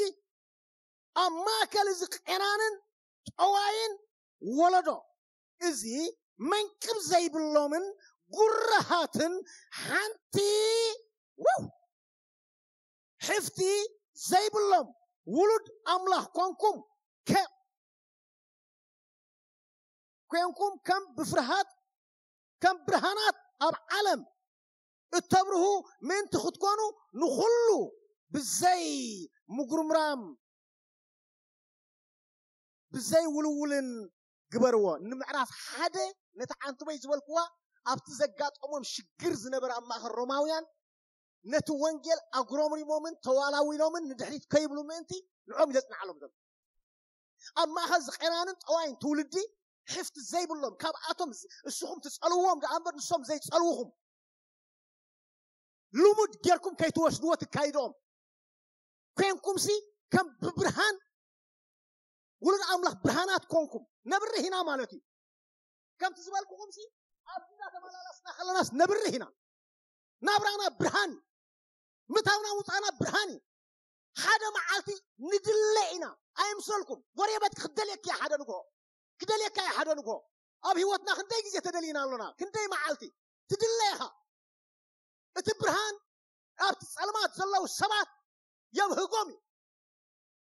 ኣብ ማእከል እዚ ቄናንን ጠዋይን ወለዶ እዚ መንቅብ ዘይብሎምን ጉረሃትን ሓንቲ ሕፍቲ ዘይብሎም ውሉድ ኣምላኽ ኮንኩም ኮንኩም ከም ብፍርሃት ከም ብርሃናት ኣብ ዓለም እተብርሁ ምእንቲ ክትኮኑ ንኹሉ ብዘይ ምጉርምራም ብዘይ ውልውልን ግበርዎ ንምዕራፍ ሓደ ነቲ ዓንትበይ ዝበልክዋ ኣብቲ ዘጋጠሞም ሽግር ዝነበረ ኣብ ማእኸል ሮማውያን ነቲ ወንጌል ኣጉረምሪሞምን ተዋላዊሎምን ንድሕሪት ከይብሉ ምእንቲ ንዖም ይዘፅንዓሎም ዘሎ ኣብ ማእኸል ዝቐናንን ጠዋይን ትውልዲ ሕፍቲ ዘይብሎም ካብኣቶም እስኹም ትፀልውዎም ደኣ እምበር ንሶም ዘይፀልውኹም ልሙድ ጌርኩም ከይትወስድዎ ትካይድኦም ኮንኩምሲ ከም ብብርሃን ውሉድ ኣምላኽ ብርሃናት ኮንኩም ነብርህ ኢና ማለት እዩ ከምቲ ዝበልኩኹምሲ ኣብዚ እናተመላለስና ከለናስ ነብርህ ኢና ናብራና ብርሃን እዩ ምታውና ምውፃእና ብርሃን እዩ። ሓደ መዓልቲ ንድለ ኢና። ኣይምሰልኩም፣ ጎረቤት ክደልየካ እያ ሓደ ንግሆ፣ ክደልየካ እያ ሓደ ንግሆ። ኣብ ህይወትና ክንደይ ግዜ ተደሊና ኣሎና? ክንደይ መዓልቲ ትድለ ኢኻ? እቲ ብርሃን ኣብቲ ጸልማት ዘለዉ ሰባት የብህጎም እዩ።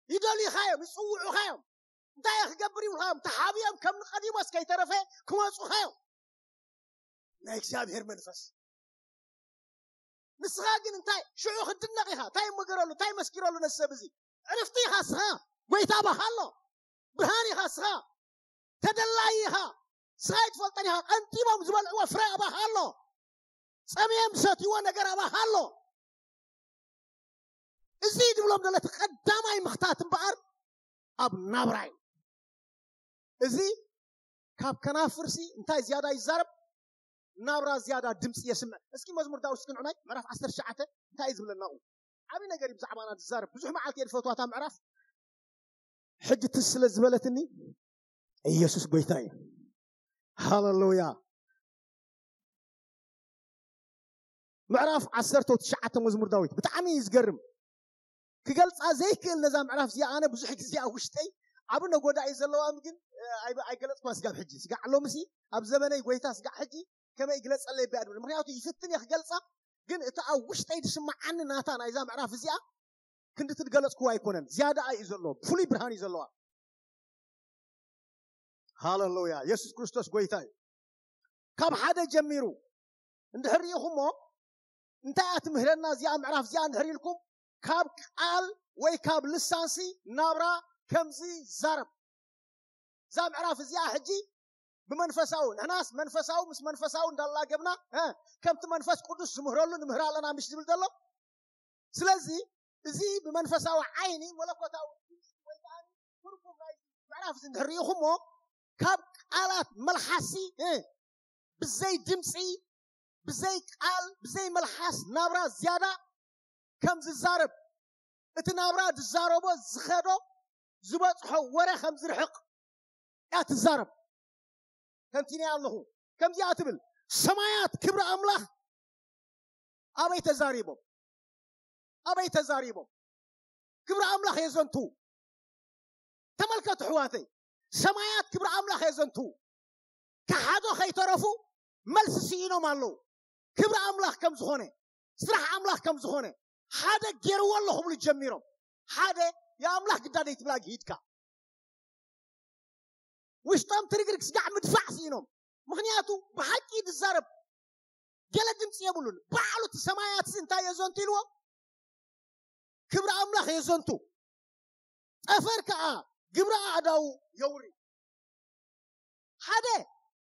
ይደልዩኻ እዮም፣ ይጽውዑኻ እዮም። እንታይ እየ ክገብር ይብሉኻ እዮም። ተሓብዮም ከም ንቀዲሞስ ከይተረፈ ክመጹኻ እዮም። ናይ እግዚኣብሔር መንፈስ። ንስኻ ግን እንታይ ሽዑ ክትድነቕ ኢኻ? እንታይ መገረሉ? እንታይ መስኪረሉ ነዚ ሰብ እዚ? ዕርፍቲ ኢኻ ንስኻ። ጎይታ ኣባኻ ኣሎ። ብርሃን ኢኻ ንስኻ። ተደላይ ኢኻ። ንስኻ ኣይትፈልጠን ኢኻ። ቀንጢቦም ዝበልዕዎ ፍረ ኣባኻ ኣሎ። ጸሚዮም ዝሰትይዎ ነገር ኣባኻ ኣሎ። እዚ ድብሎም ዘሎ እቲ ቀዳማይ ምኽታት እምበኣር ኣብ ናብራ እዩ። እዚ ካብ ከናፍርሲ እንታይ ዝያዳ ይዛረብ? ናብራ ዝያዳ ድምፂ የስምዕ። እስኪ መዝሙር ዳዊት እስኪ ንዑናይ ምዕራፍ ዓሰርተ ትሽዓተ እንታይ እዩ ዝብለና? ኣብኡ ዓብዪ ነገር እዩ ብዛዕባና ዝዛረብ። ብዙሕ መዓልቲ እየ ዝፈትዋ እታ ምዕራፍ። ሕጂ ትዝ ስለ ዝበለትኒ ኢየሱስ ጎይታ እዩ። ሃሌሉያ። ምዕራፍ ዓሰርተ ትሽዓተ መዝሙር ዳዊት ብጣዕሚ እዩ ዝገርም። ክገልፃ ዘይክእል ነዛ ምዕራፍ እዚኣ ኣነ ብዙሕ ግዜ ኣብ ውሽጠይ ዓቢ ነጎዳ እዩ ዘለዋ፣ ግን እ፣ ኣይበ- ኣይገለፅኳ ስጋብ ሕጂ። ስጋዕ ሎምሲ ኣብ ዘመነይ ጎይታ ስጋዕ ሕጂ ከመይ ይግለፀለይ እባ ድብል። ምክንያቱ ይፍትን እየ ክገልፃ፣ ግን እቲ ኣብ ውሽጠይ ዝስምዓኒ ናታ ናይዛ ምዕራፍ እዚኣ ክንዲ ትገለፅክዋ ኣይኮነን። ዝያዳ እዩ ዘለዎ፣ ፍሉይ ብርሃን እዩ ዘለዋ። ሃሌሉያ። የሱስ ክርስቶስ ጎይታ እዩ። ካብ ሓደ ጀሚሩ እንድሕር ርኢኹሞ እንታይ እያ ትምህረና እዚኣ ምዕራፍ እዚኣ እንድሕር ኢልኩም፣ ካብ ቃል ወይ ካብ ልሳንሲ ናብራ ከምዚ ዛረብ። እዛ ምዕራፍ እዚኣ ሕጂ ብመንፈሳዊ፣ ንሕናስ መንፈሳዊ ምስ መንፈሳዊ እንዳላገብና እ፣ ከምቲ መንፈስ ቅዱስ ዝምህረሉ ንምህር ኣለና ምሽ ዝብል ዘሎ። ስለዚ እዚ ብመንፈሳዊ ዓይኒ መለኮታዊ ድምፂ ወይ ከዓ ትርጉም ናይ ምዕራፍ እዚ እንድሕር ርኢኹሞ፣ ካብ ቃላት መልሓሲ እ፣ ብዘይ ድምፂ፣ ብዘይ ቃል፣ ብዘይ መልሓስ ናብራ ዝያዳ ከም ዝዛረብ፣ እቲ ናብራ ዝዛረቦ ዝኸዶ ዝበፅሖ ወረ ከም ዝርሕቕ እያ ትዛረብ። ተንቲነ ኣለኹ። ከምዚኣ ትብል፣ ሰማያት ክብሪ ኣምላኽ ኣበይ ተዛሪቦም? ኣበይ ተዛሪቦም? ክብሪ ኣምላኽ የዘንቱ። ተመልከቱ ኣሕዋተይ፣ ሰማያት ክብሪ ኣምላኽ የዘንቱ። ከሓዶ ከይተረፉ መልሲ ስኢኖም ኣለዉ። ክብሪ ኣምላኽ ከም ዝኾነ፣ ስራሕ ኣምላኽ ከም ዝኾነ ሓደ ገይርዎ ኣሎ ክብሉ ጀሚሮም። ሓደ የኣምላኽ ግዳ ደይትብላ ግሂድካ ውሽጦም ትርግርግ ስጋዕ ምድፋዕ ስኢኖም። ምክንያቱ ብሓቂ ዝዛረብ ገለ ድምፂ የብሉን። ባዕሉ እቲ ሰማያት እዚ እንታይ የዘንቱ ኢልዎ? ክብሪ ኣምላኽ የዘንቱ። ጠፈር ከዓ ግብሪ ኣእዳዉ የውሪ። ሓደ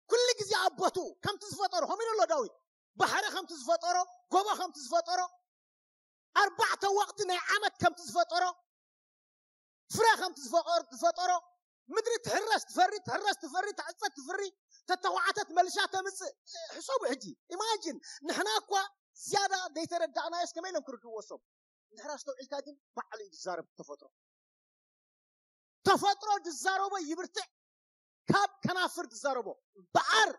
ኩሉ ግዜ ኣብ ቦትኡ ከምቲ ዝፈጠሮ፣ ከምኡ ኢሉ ኣሎ ዳዊት። ባሕሪ ከምቲ ዝፈጠሮ፣ ጎቦ ከምቲ ዝፈጠሮ፣ ኣርባዕተ ወቕቲ ናይ ዓመት ከምቲ ዝፈጠሮ፣ ፍረ ከምቲ ዝፈጠሮ፣ ዝፈጠሮ፣ ምድሪ ትሕረስ ትፈሪ፣ ትሕረስ ትፈሪ፣ ትዕፀድ ትፍሪ፣ ተተኳዓተት መልሻ ተምፅእ። ሕሰቡ ሕጂ፣ ኢማጂን፣ ንሕና እኳ ዝያዳ ዘይተረዳእናዮስ ከመይ ኢሎም ክርድእዎ ሰብ? እንድሕር ኣስተውዒልካ ግን ባዕሉ እዩ ዝዛረብ ተፈጥሮ። ተፈጥሮ ዝዛረቦ ይብርትዕ ካብ ከናፍር ዝዛረቦ እምበኣር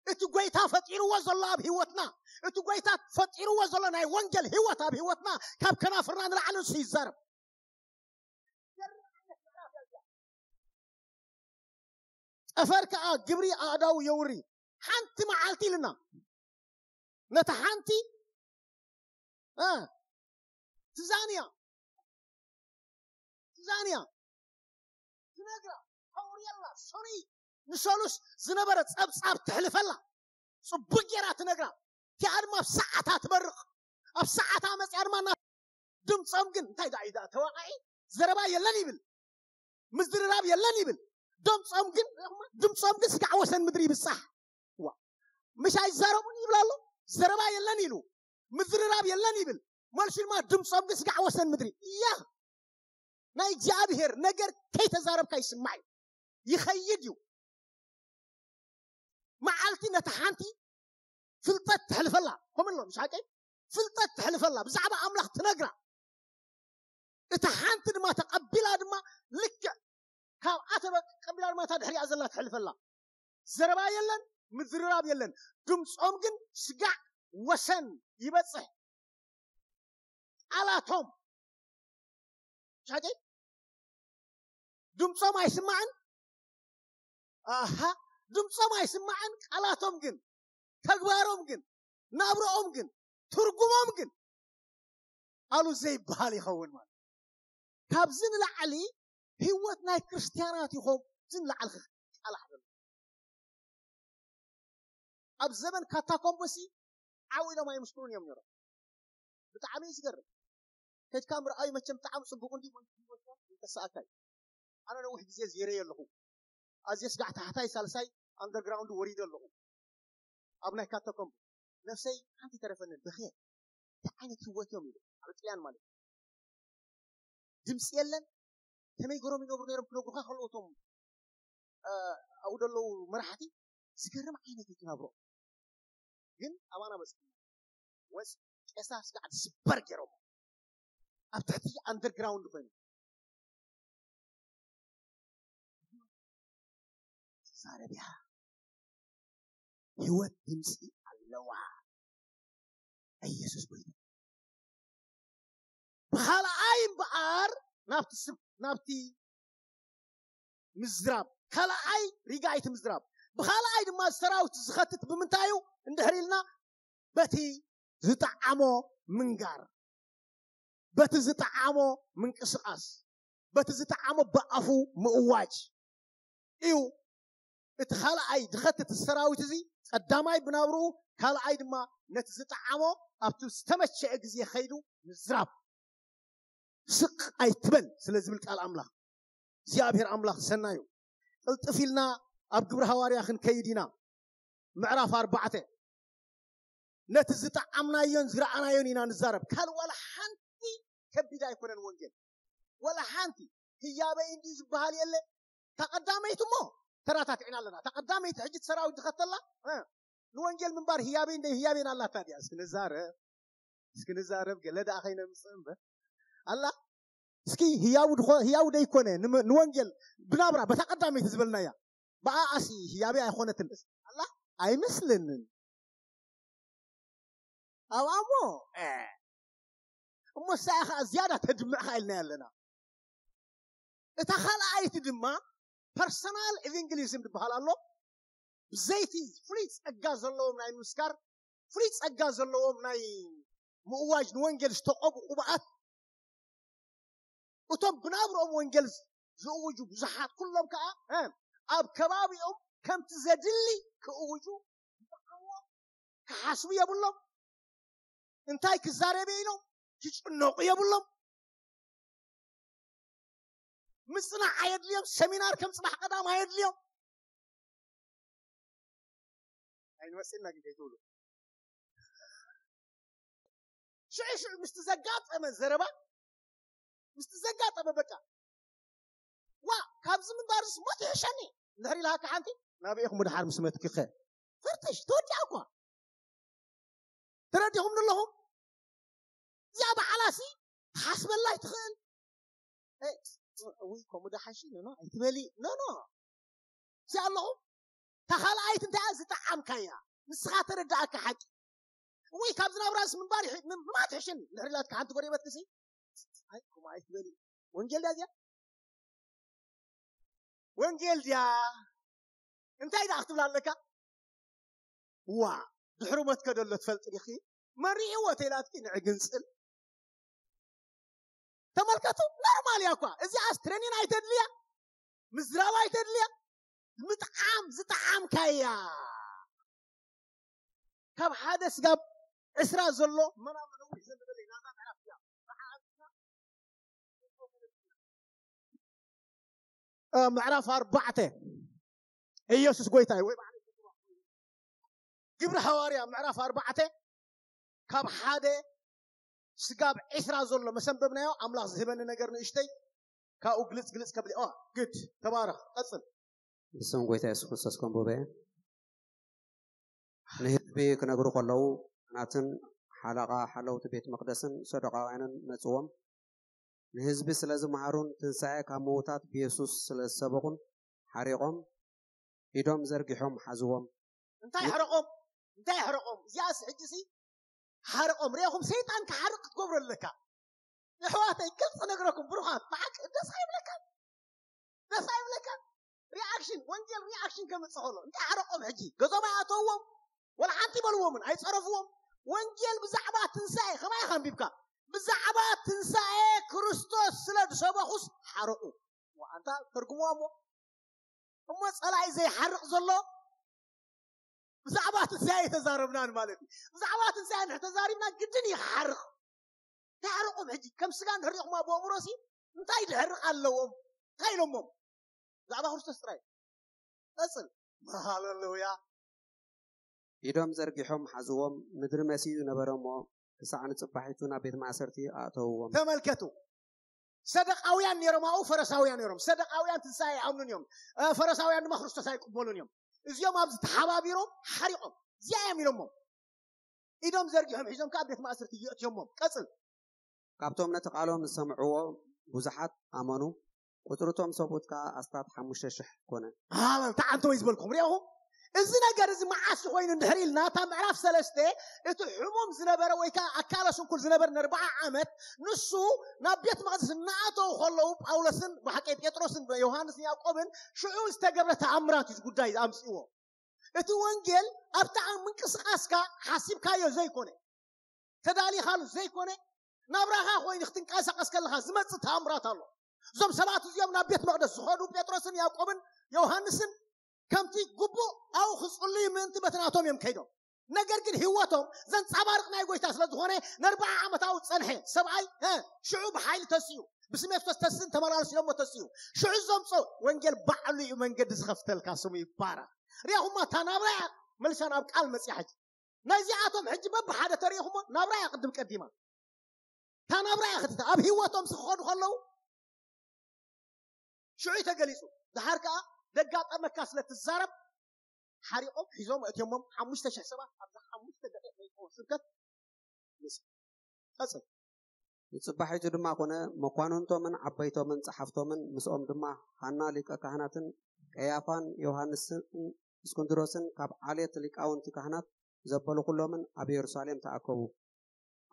እቲ ጎይታ ፈጢርዎ ዘሎ ኣብ ህይወትና፣ እቲ ጎይታ ፈጢርዎ ዘሎ ናይ ወንጌል ህይወት ኣብ ህይወትና ካብ ከናፍርና ንላዕሊ ንሱ ይዛረብ። ጠፈር ከዓ ግብሪ ኣእዳው የውሪ። ሓንቲ መዓልቲ ኢልና ነታ ሓንቲ እ፣ ትዛንያ ትዛንያ ትነግራ፣ ተውርየላ፣ ሰኑይ ንሰሉስ ዝነበረ ጸብጻብ ትሕልፈላ፣ ጽቡቅ ጌራ ትነግራ። እቲኣ ድማ ኣብ ሰዓታ ትበርቕ። ኣብ ሰዓታ መጽያ ድማ እና ድምጾም ግን እንታይ ደኣ እዩ ደኣ ተዋቃዒ? ዘረባ የለን ይብል። ምዝርራብ የለን ይብል። ድምጾም ግን ድምጾም ግን ስጋዕ ወሰን ምድሪ ይብጻሕ። ዋ፣ ምሽ ኣይዛረቡን ይብል ኣሎ። ዘረባ የለን ኢሉ ምዝርራብ የለን ይብል። መልሱ ድማ ድምጾም ግን ስጋዕ ወሰን ምድሪ። እያ ናይ እግዚኣብሔር ነገር ከይተዛረብካ ይስማዕ እዩ። ይኸይድ እዩ። መዓልቲ ነታ ሓንቲ ፍልጠት ተሕልፈላ። ከምኡ ኣሎ፣ ምሽ ሓቀይ? ፍልጠት ተሕልፈላ። ብዛዕባ ኣምላኽ ትነግራ። እታ ሓንቲ ድማ ተቐቢላ ድማ ልክዕ ካብኣ ተቐቢላ ድማ እታ ድሕሪኣ ዘላ ተሕልፈላ። ዘረባ የለን፣ ምዝርራብ የለን። ድምጾም ግን ስጋዕ ወሰን ይበጽሕ። ቃላቶም ሻቂ ድምፆም ኣይስማዕን። ኣሃ ድምፆም ኣይስማዕን፣ ቃላቶም ግን፣ ተግባሮም ግን፣ ናብረኦም ግን፣ ትርጉሞም ግን ኣሉ ዘይበሃል ይኸውን ማለት። ካብዚ ንላዕሊ ህይወት ናይ ክርስትያናት ይኾም ዝንላዕል ቃላሕ ዘሎ። ኣብ ዘመን ካታኮምቦሲ ዓው ኢሎም ኣይምስክሩን እዮም ነሮም። ብጣዕሚ እዩ ዝገርም። ከድካ ምርኣዩ መቸም ብጣዕሚ ፅቡቅ እንዲ ተሰኣካ እዩ። ኣነ ነዊሕ ግዜ ዜረየ ኣለኹ። ኣዝየ ስጋዕ ታሕታይ ሳልሳይ ኣንደርግራውንድ ወሪደ ኣለኹ። ኣብ ናይ ካታኮምብ ነፍሰይ ሓንቲ ተረፈንን ብኸ እንታይ ዓይነት ህይወት እዮም ኢሉ ኣብ ጥልያን ማለት እዩ። ድምፂ የለን። ከመይ ገሮም ይነብሩ ነሮም ክነግሩካ ከለዉ እቶም ኣብኡ ዘለዉ መራሕቲ ዝገርም ዓይነት እዩ ክነብሮ። ግን ኣባና በፅሕና ወፅ ቄሳ ስጋዕ ዝስበር ገይሮም ኣብ ትሕቲ ኣንደርግራውንድ ኮይኑ ዛረብያ ህይወት ድምፂ ኣለዋ። ኢየሱስ ጎይታ። ብኻልኣይ እምበኣር ናብቲ ስብ ናብቲ ምዝራብ፣ ካልኣይ ሪጋይቲ ምዝራብ። ብኻልኣይ ድማ ሰራዊት ዝኸትት ብምንታይ እዩ እንድሕር ኢልና፣ በቲ ዝጠዓሞ ምንጋር፣ በቲ ዝጠዓሞ ምንቅስቃስ፣ በቲ ዝጠዓሞ ብኣፉ ምእዋጅ እዩ። እቲ ካልኣይ ዝኸትት ሰራዊት እዚ ቀዳማይ ብናብርኡ፣ ካልኣይ ድማ ነቲ ዝጠዓሞ ኣብቲ ዝተመቸአ ግዜ ከይዱ ምዝራብ። ስቕ ኣይትበል ስለ ዝብል ቃል ኣምላኽ። እግዚኣብሔር ኣምላኽ ሰናዩ። ቅልጥፍ ኢልና ኣብ ግብሪ ሃዋርያ ክንከይድ ኢና። ምዕራፍ ኣርባዕተ። ነቲ ዝጠዓምናዮን ዝረኣናዮን ኢና ንዛረብ። ካልእ ዋላ ሓንቲ ከቢድ ኣይኮነን ወንጌል። ዋላ ሓንቲ ህያበይ እንዲዩ ዝበሃል የለ። እታ ቀዳመይቲ እሞ ተራታቲዕና ኣለና። እታ ቀዳመይቲ ሕጂ እቲ ሰራዊት ዝኸተላ፣ እ፣ ንወንጌል ምንባር ህያበይ እንደ ህያበይ ኣላታ ድያ? እስኪ ንዛረብ። እስኪ ንዛረብ፣ ገለ ደኣ ከይነምጽእ እምበር። ኣላ፣ እስኪ ህያው ድኾ-፣ ህያው ደይኮነ፣ ንመ-፣ ንወንጌል ብናብራ፣ በታ ቀዳመይቲ ዝበልናያ። ብኣኣሲ ህያበይ ኣይኾነትን። ኣላ፣ ኣይመስለንን። ኣብኣ እሞ፣ እ፣ እሞ እሳ ኢኻ ዝያዳ ተድምዕኻ ኢልናያ ኣለና። እታ ካልኣይቲ ድማ ፐርሰናል ኤቫንጀሊዝም ዝበሃል ኣሎ። ብዘይቲ ፍሉይ ጸጋ ዘለዎም ናይ ምምስካር፣ ፍሉይ ጸጋ ዘለዎም ናይ ምእዋጅ ንወንጌል ዝተቐብኡ ቅቡኣት፣ እቶም ብናብርኦም ወንጌል ዝእውጁ ብዙሓት ኩሎም ከኣ፣ እ፣ ኣብ ከባቢኦም ከምቲ ዘድሊ ክእውጁ ክሓስቡ የብሎም። እንታይ ክዛረብ ኢሎም ክጭነቑ የብሎም። ምጽናዕ ኣየድልዮም። ሰሚናር ከም ጽባሕ ቀዳም ኣየድልዮም። ኣይንወስን ናጊ ከይትብሉ። ሽዑ ሽዑ ምስቲ ዘጋጠመ ዘረባ፣ ምስቲ ዘጋጠመ በቃ፣ ዋ፣ ካብዚ ምንባርስ ሞት ይሕሸኒ እንድሕር ኢልሃካ ሓንቲ፣ ናበይ ኢኹም ድሓር ምስ መትኪኸ? ፈርተሽ፣ ተወዲኣ እኳ። ተረዲኹም ኣለኹም? እዚኣ በዓላሲ ትሓስበላ ኣይትኽእል። እ፣ ውይ፣ ከምኡ ደሓሽ፣ ኖ፣ ኖ፣ ኣይትበሊ። ኖ፣ ኖ። እዚኣ ኣለኹም? እታ ካልኣይት እንታይ እያ? ዝጠዓምካያ። ንስኻ ተረዳእካ ሓቂ። ውይ፣ ካብዚ ናብራስ ምንባር ይሕ-፣ ም-፣ ምማት ይሕሽን። እንድሕር ኢላትካ ሓንቲ ጎረቤትክሲ፣ ኣይ፣ ከምኡ ኣይትበሊ። ወንጌል ድያ እዚኣ? ወንጌል ድያ? እንታይ ደኣ ክትብል ኣለካ? ዋ፣ ድሕሪ ሞትከ ደሎ ትፈልጢ ዲኺ? መሪዕዎ ተይላትኪ ንዕግንጽል። ተመልከቱ፣ ኖርማል እያ እኳ። እዚኣስ ትሬኒን ኣይተድልያ፣ ምዝራብ ኣይተድልያ። ምጥዓም ዝጠዓምካያ። ካብ ሓደ ስጋብ ዕስራ ዘሎ መናመ ነዊሕ ዘንበለ ናዛ ምዕራፍ እያ። እ፣ ምዕራፍ ኣርባዕተ። ኢየሱስ ጎይታ እዩ። ወይ በዓል ግብሪ ሃዋርያ ምዕራፍ ኣርባዕተ፣ ካብ ሓደ ስጋብ ዕስራ ዘሎ መሰንበብናዮ፣ ኣምላኽ ዝህበኒ ነገር ንእሽተይ፣ ካብኡ ግልጽ ግልጽ ከብል። ኦ፣ ግድ፣ ተባረኽ፣ ቀጽል። ብስም ጎይታ የሱስ ክርስቶስ ከንብቦ እየ። ንህዝቢ ክነግሩ ከለዉ፣ ካህናትን ሓለቓ ሓለውቲ ቤት መቕደስን ሰዱቃውያንን መጽዎም፣ ንህዝቢ ስለ ዝመሃሩን ትንሳኤ ካብ ምዉታት ብየሱስ ስለ ዝሰበኹን ሓሪቖም፣ ኢዶም ዘርጊሖም ሓዝዎም። እንታይ ሓረቖም? እንታይ ሓረቖም? እዚኣስ ሕጂሲ ሓረቖም። ርኢኹም፣ ሰይጣን ክሓርቕ ክትገብሮ ኣለካ። ኣሕዋተይ፣ ግልፂ ነግረኩም ብሩኻት፣ ብሓቂ ደስ ኣይብለካን? ደስ ኣይብለካን? ሪኣክሽን፣ ወንጌል ሪኣክሽን ከምፅእ ከሎ እንታይ ሓረቆም? ሕጂ ገዞም ኣይኣተውዎም፣ ወላ ሓንቲ ይበልዎምን ኣይፀረፍዎም። ወንጌል ብዛዕባ ትንሳኤ ከማይ ከንቢብካ፣ ብዛዕባ ትንሳኤ ክርስቶስ ስለ ዝሰበኹስ ሓረቁ። ኣንታ ተርጉምዋ እሞ። እሞ ፀላኢ ዘይሓርቕ ዘሎ ብዛዕባ ትንሳኤ ተዛረብናን ማለት እዩ። ብዛዕባ ትንሳኤ እንድሕር ተዛሪብና ግድን እዩ ክሓርቕ። ተሓርቑም ሕጂ ከም ስጋ እንድሕር ሪኹማ ብእምሮሲ እንታይ ድሕርቕ ኣለዎም? እንታይ ኢሎሞም? ብዛዕባ ክርስቶስ ጥራይ። ቀፅል። ሃሌሉያ። ኢዶም ዘርጊሖም ሓዝዎም፣ ምድሪ መሲዩ ነበረ እሞ፣ ክሳዕ ንጽባሒቱ ናብ ቤት ማእሰርቲ ኣእተውዎም። ተመልከቱ። ሰደቃውያን ነይሮም፣ ኣብኡ ፈረሳውያን ነይሮም። ሰደቃውያን ትንሳኤ ኣይኣምኑን እዮም። እ፣ ፈረሳውያን ድማ ክርስቶስ ኣይቅበሉን እዮም። እዚኦም ኣብዚ ተሓባቢሮም ሓሪቖም። እዚኣ እዮም ኢሎሞም። ኢዶም ዘርጊሖም ሒዞም ከኣ ቤት ማእሰርቲ የእትዮሞም። ቀጽል። ካብቶም ነቲ ቃሎም ዝሰምዕዎ ብዙሓት ኣመኑ፣ ቁጽሪ እቶም ሰብኡት ከኣ ኣስታት ሓሙሽተ ሽሕ ኮነ። ኣመን። ተዓንተወይ ዝበልኩም ሪኢኹም። እዚ ነገር እዚ መዓስ ኮይኑ እንድሕር ኢልና፣ እታ ምዕራፍ ሰለስተ፣ እቲ ሕሙም ዝነበረ ወይ ከዓ ኣካለ ስንኩል ዝነበረ ንኣርብዓ ዓመት፣ ንሱ ናብ ቤት መቕደስ እናኣተዉ ከለዉ፣ ጳውሎስን ብሓቂ ጴጥሮስን ዮሃንስን ያዕቆብን ሽዑ ዝተገብረ ተኣምራት እዩ ጉዳይ ኣምፅእዎ። እቲ ወንጌል ኣብታ ምንቅስቃስካ ሓሲብካዮ ዘይኮነ፣ ተዳሊኻሉ ዘይኮነ፣ ናብራኻ ኮይኑ ክትንቀሳቀስ ከለኻ ዝመጽእ ተኣምራት ኣሎ። እዞም ሰባት እዚኦም ናብ ቤት መቕደስ ዝኸዱ ጴጥሮስን ያዕቆብን ዮሃንስን ከምቲ ግቡእ ኣብኡ ክጽልዩ ምእንቲ በቲ ናቶም እዮም ከይዶም። ነገር ግን ህይወቶም ዘንጸባርቕ ናይ ጎይታ ስለ ዝኾነ፣ ንኣርብዓ ዓመት ኣብኡ ጸንሐ ሰብኣይ፣ እ፣ ሽዑ ብሓይሊ ተሲኡ፣ ብስሜት ተስን ተመላለስ ኢሎሞ ተሲኡ። ሽዑ ዘምጾ ወንጌል ባዕሉ እዩ መንገዲ ዝኸፍተልካ፣ ስሙ ይባረኽ። ሪኹማ፣ እታ ናብራ እያ መሊሳ ናብ ቃል መጽያ። ሕጂ ናይዚኣቶም ሕጂ በብሓደ ተሪኹሞ ናብራ እያ ቅድም ቀዲማ። እታ ናብራ እያ ክትተ ኣብ ህይወቶም ዝኸዱ ከለዉ ሽዑ እዩ ተገሊጹ። ድሓር ከኣ ደጋጠመካ ስለ ትዛረብ ሓሪቖም ሒዞም እትዮሞም ሓሙሽተ ሽሕ ሰባት ኣብዛ ሓሙሽተ ደቂቕ ናይ ጳውሎስ ስብከት። ምስ ቀጽል። ንጽባሒቱ ድማ ኮነ፣ መኳንንቶምን ዓበይቶምን ጸሓፍቶምን ምስኦም ድማ ሃና ሊቀ ካህናትን ቀያፋን ዮሃንስን እስክንድሮስን ካብ ዓሌት ሊቃውንቲ ካህናት ዘበሉ ኩሎምን ኣብ የሩሳሌም ተኣከቡ።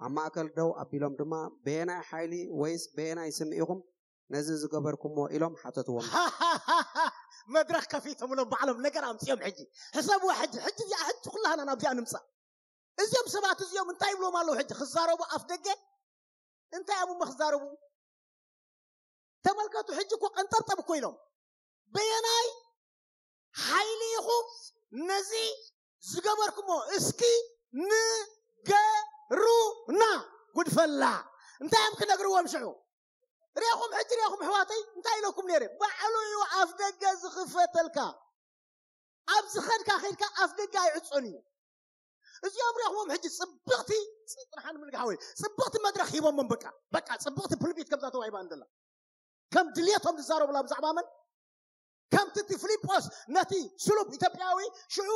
ኣብ ማእከል ደው ኣቢሎም ድማ፣ በየናይ ሓይሊ ወይስ በየናይ ስም ኢኹም ነዚ ዝገበርኩሞ? ኢሎም ሓተትዎም። መድረኽ ከፊቶምሎም ባዕሎም ነገር ኣምፅኦም። ሕጂ ሕሰብዋ፣ ሕጂ፣ ሕጂ እዚኣ፣ ሕጂ ኩላህና ናብዚኣ ንምፃእ። እዚኦም ሰባት እዚኦም እንታይ ይብሎም ኣለዉ? ሕጂ ክዛረቡ ኣፍ ደገ እንታይ ኣሙመ ክዛረቡ? ተመልከቱ፣ ሕጂ እኮ ቀንጠብጠብ እኮ ኢሎም። በየናይ ሓይሊ ኢኹም ነዚ ዝገበርኩሞ? እስኪ ንገሩና። ጉድፈላ እንታይ እዮም ክነግርዎም ሽዑ? ሪኹም፣ ሕጂ ሪኹም ኣሕዋተይ፣ እንታይ ኢለኩም ነይረ? ባዕሉ እዩ ኣፍ ደገ ዝኽፈተልካ። ኣብ ዝኸድካ ኸይድካ ኣፍ ደገ ኣይዕጾን እዩ። እዚኦም ሪኹሞም ሕጂ ጽብቕቲ፣ ጽ-፣ ጥርሓን ምልግሓ ወይ ጽብቕቲ መድረኽ ሂቦሞም። በቃ፣ በቃ ጽብቕቲ ፕልፒት ከምዛ ተዋሂባ እንደላ። ከም ድልየቶም ዝዛረቡላ ብዛዕባ መን? ከምቲ እቲ ፊልጶስ ነቲ ስሉብ ኢትዮጵያዊ ሽዑ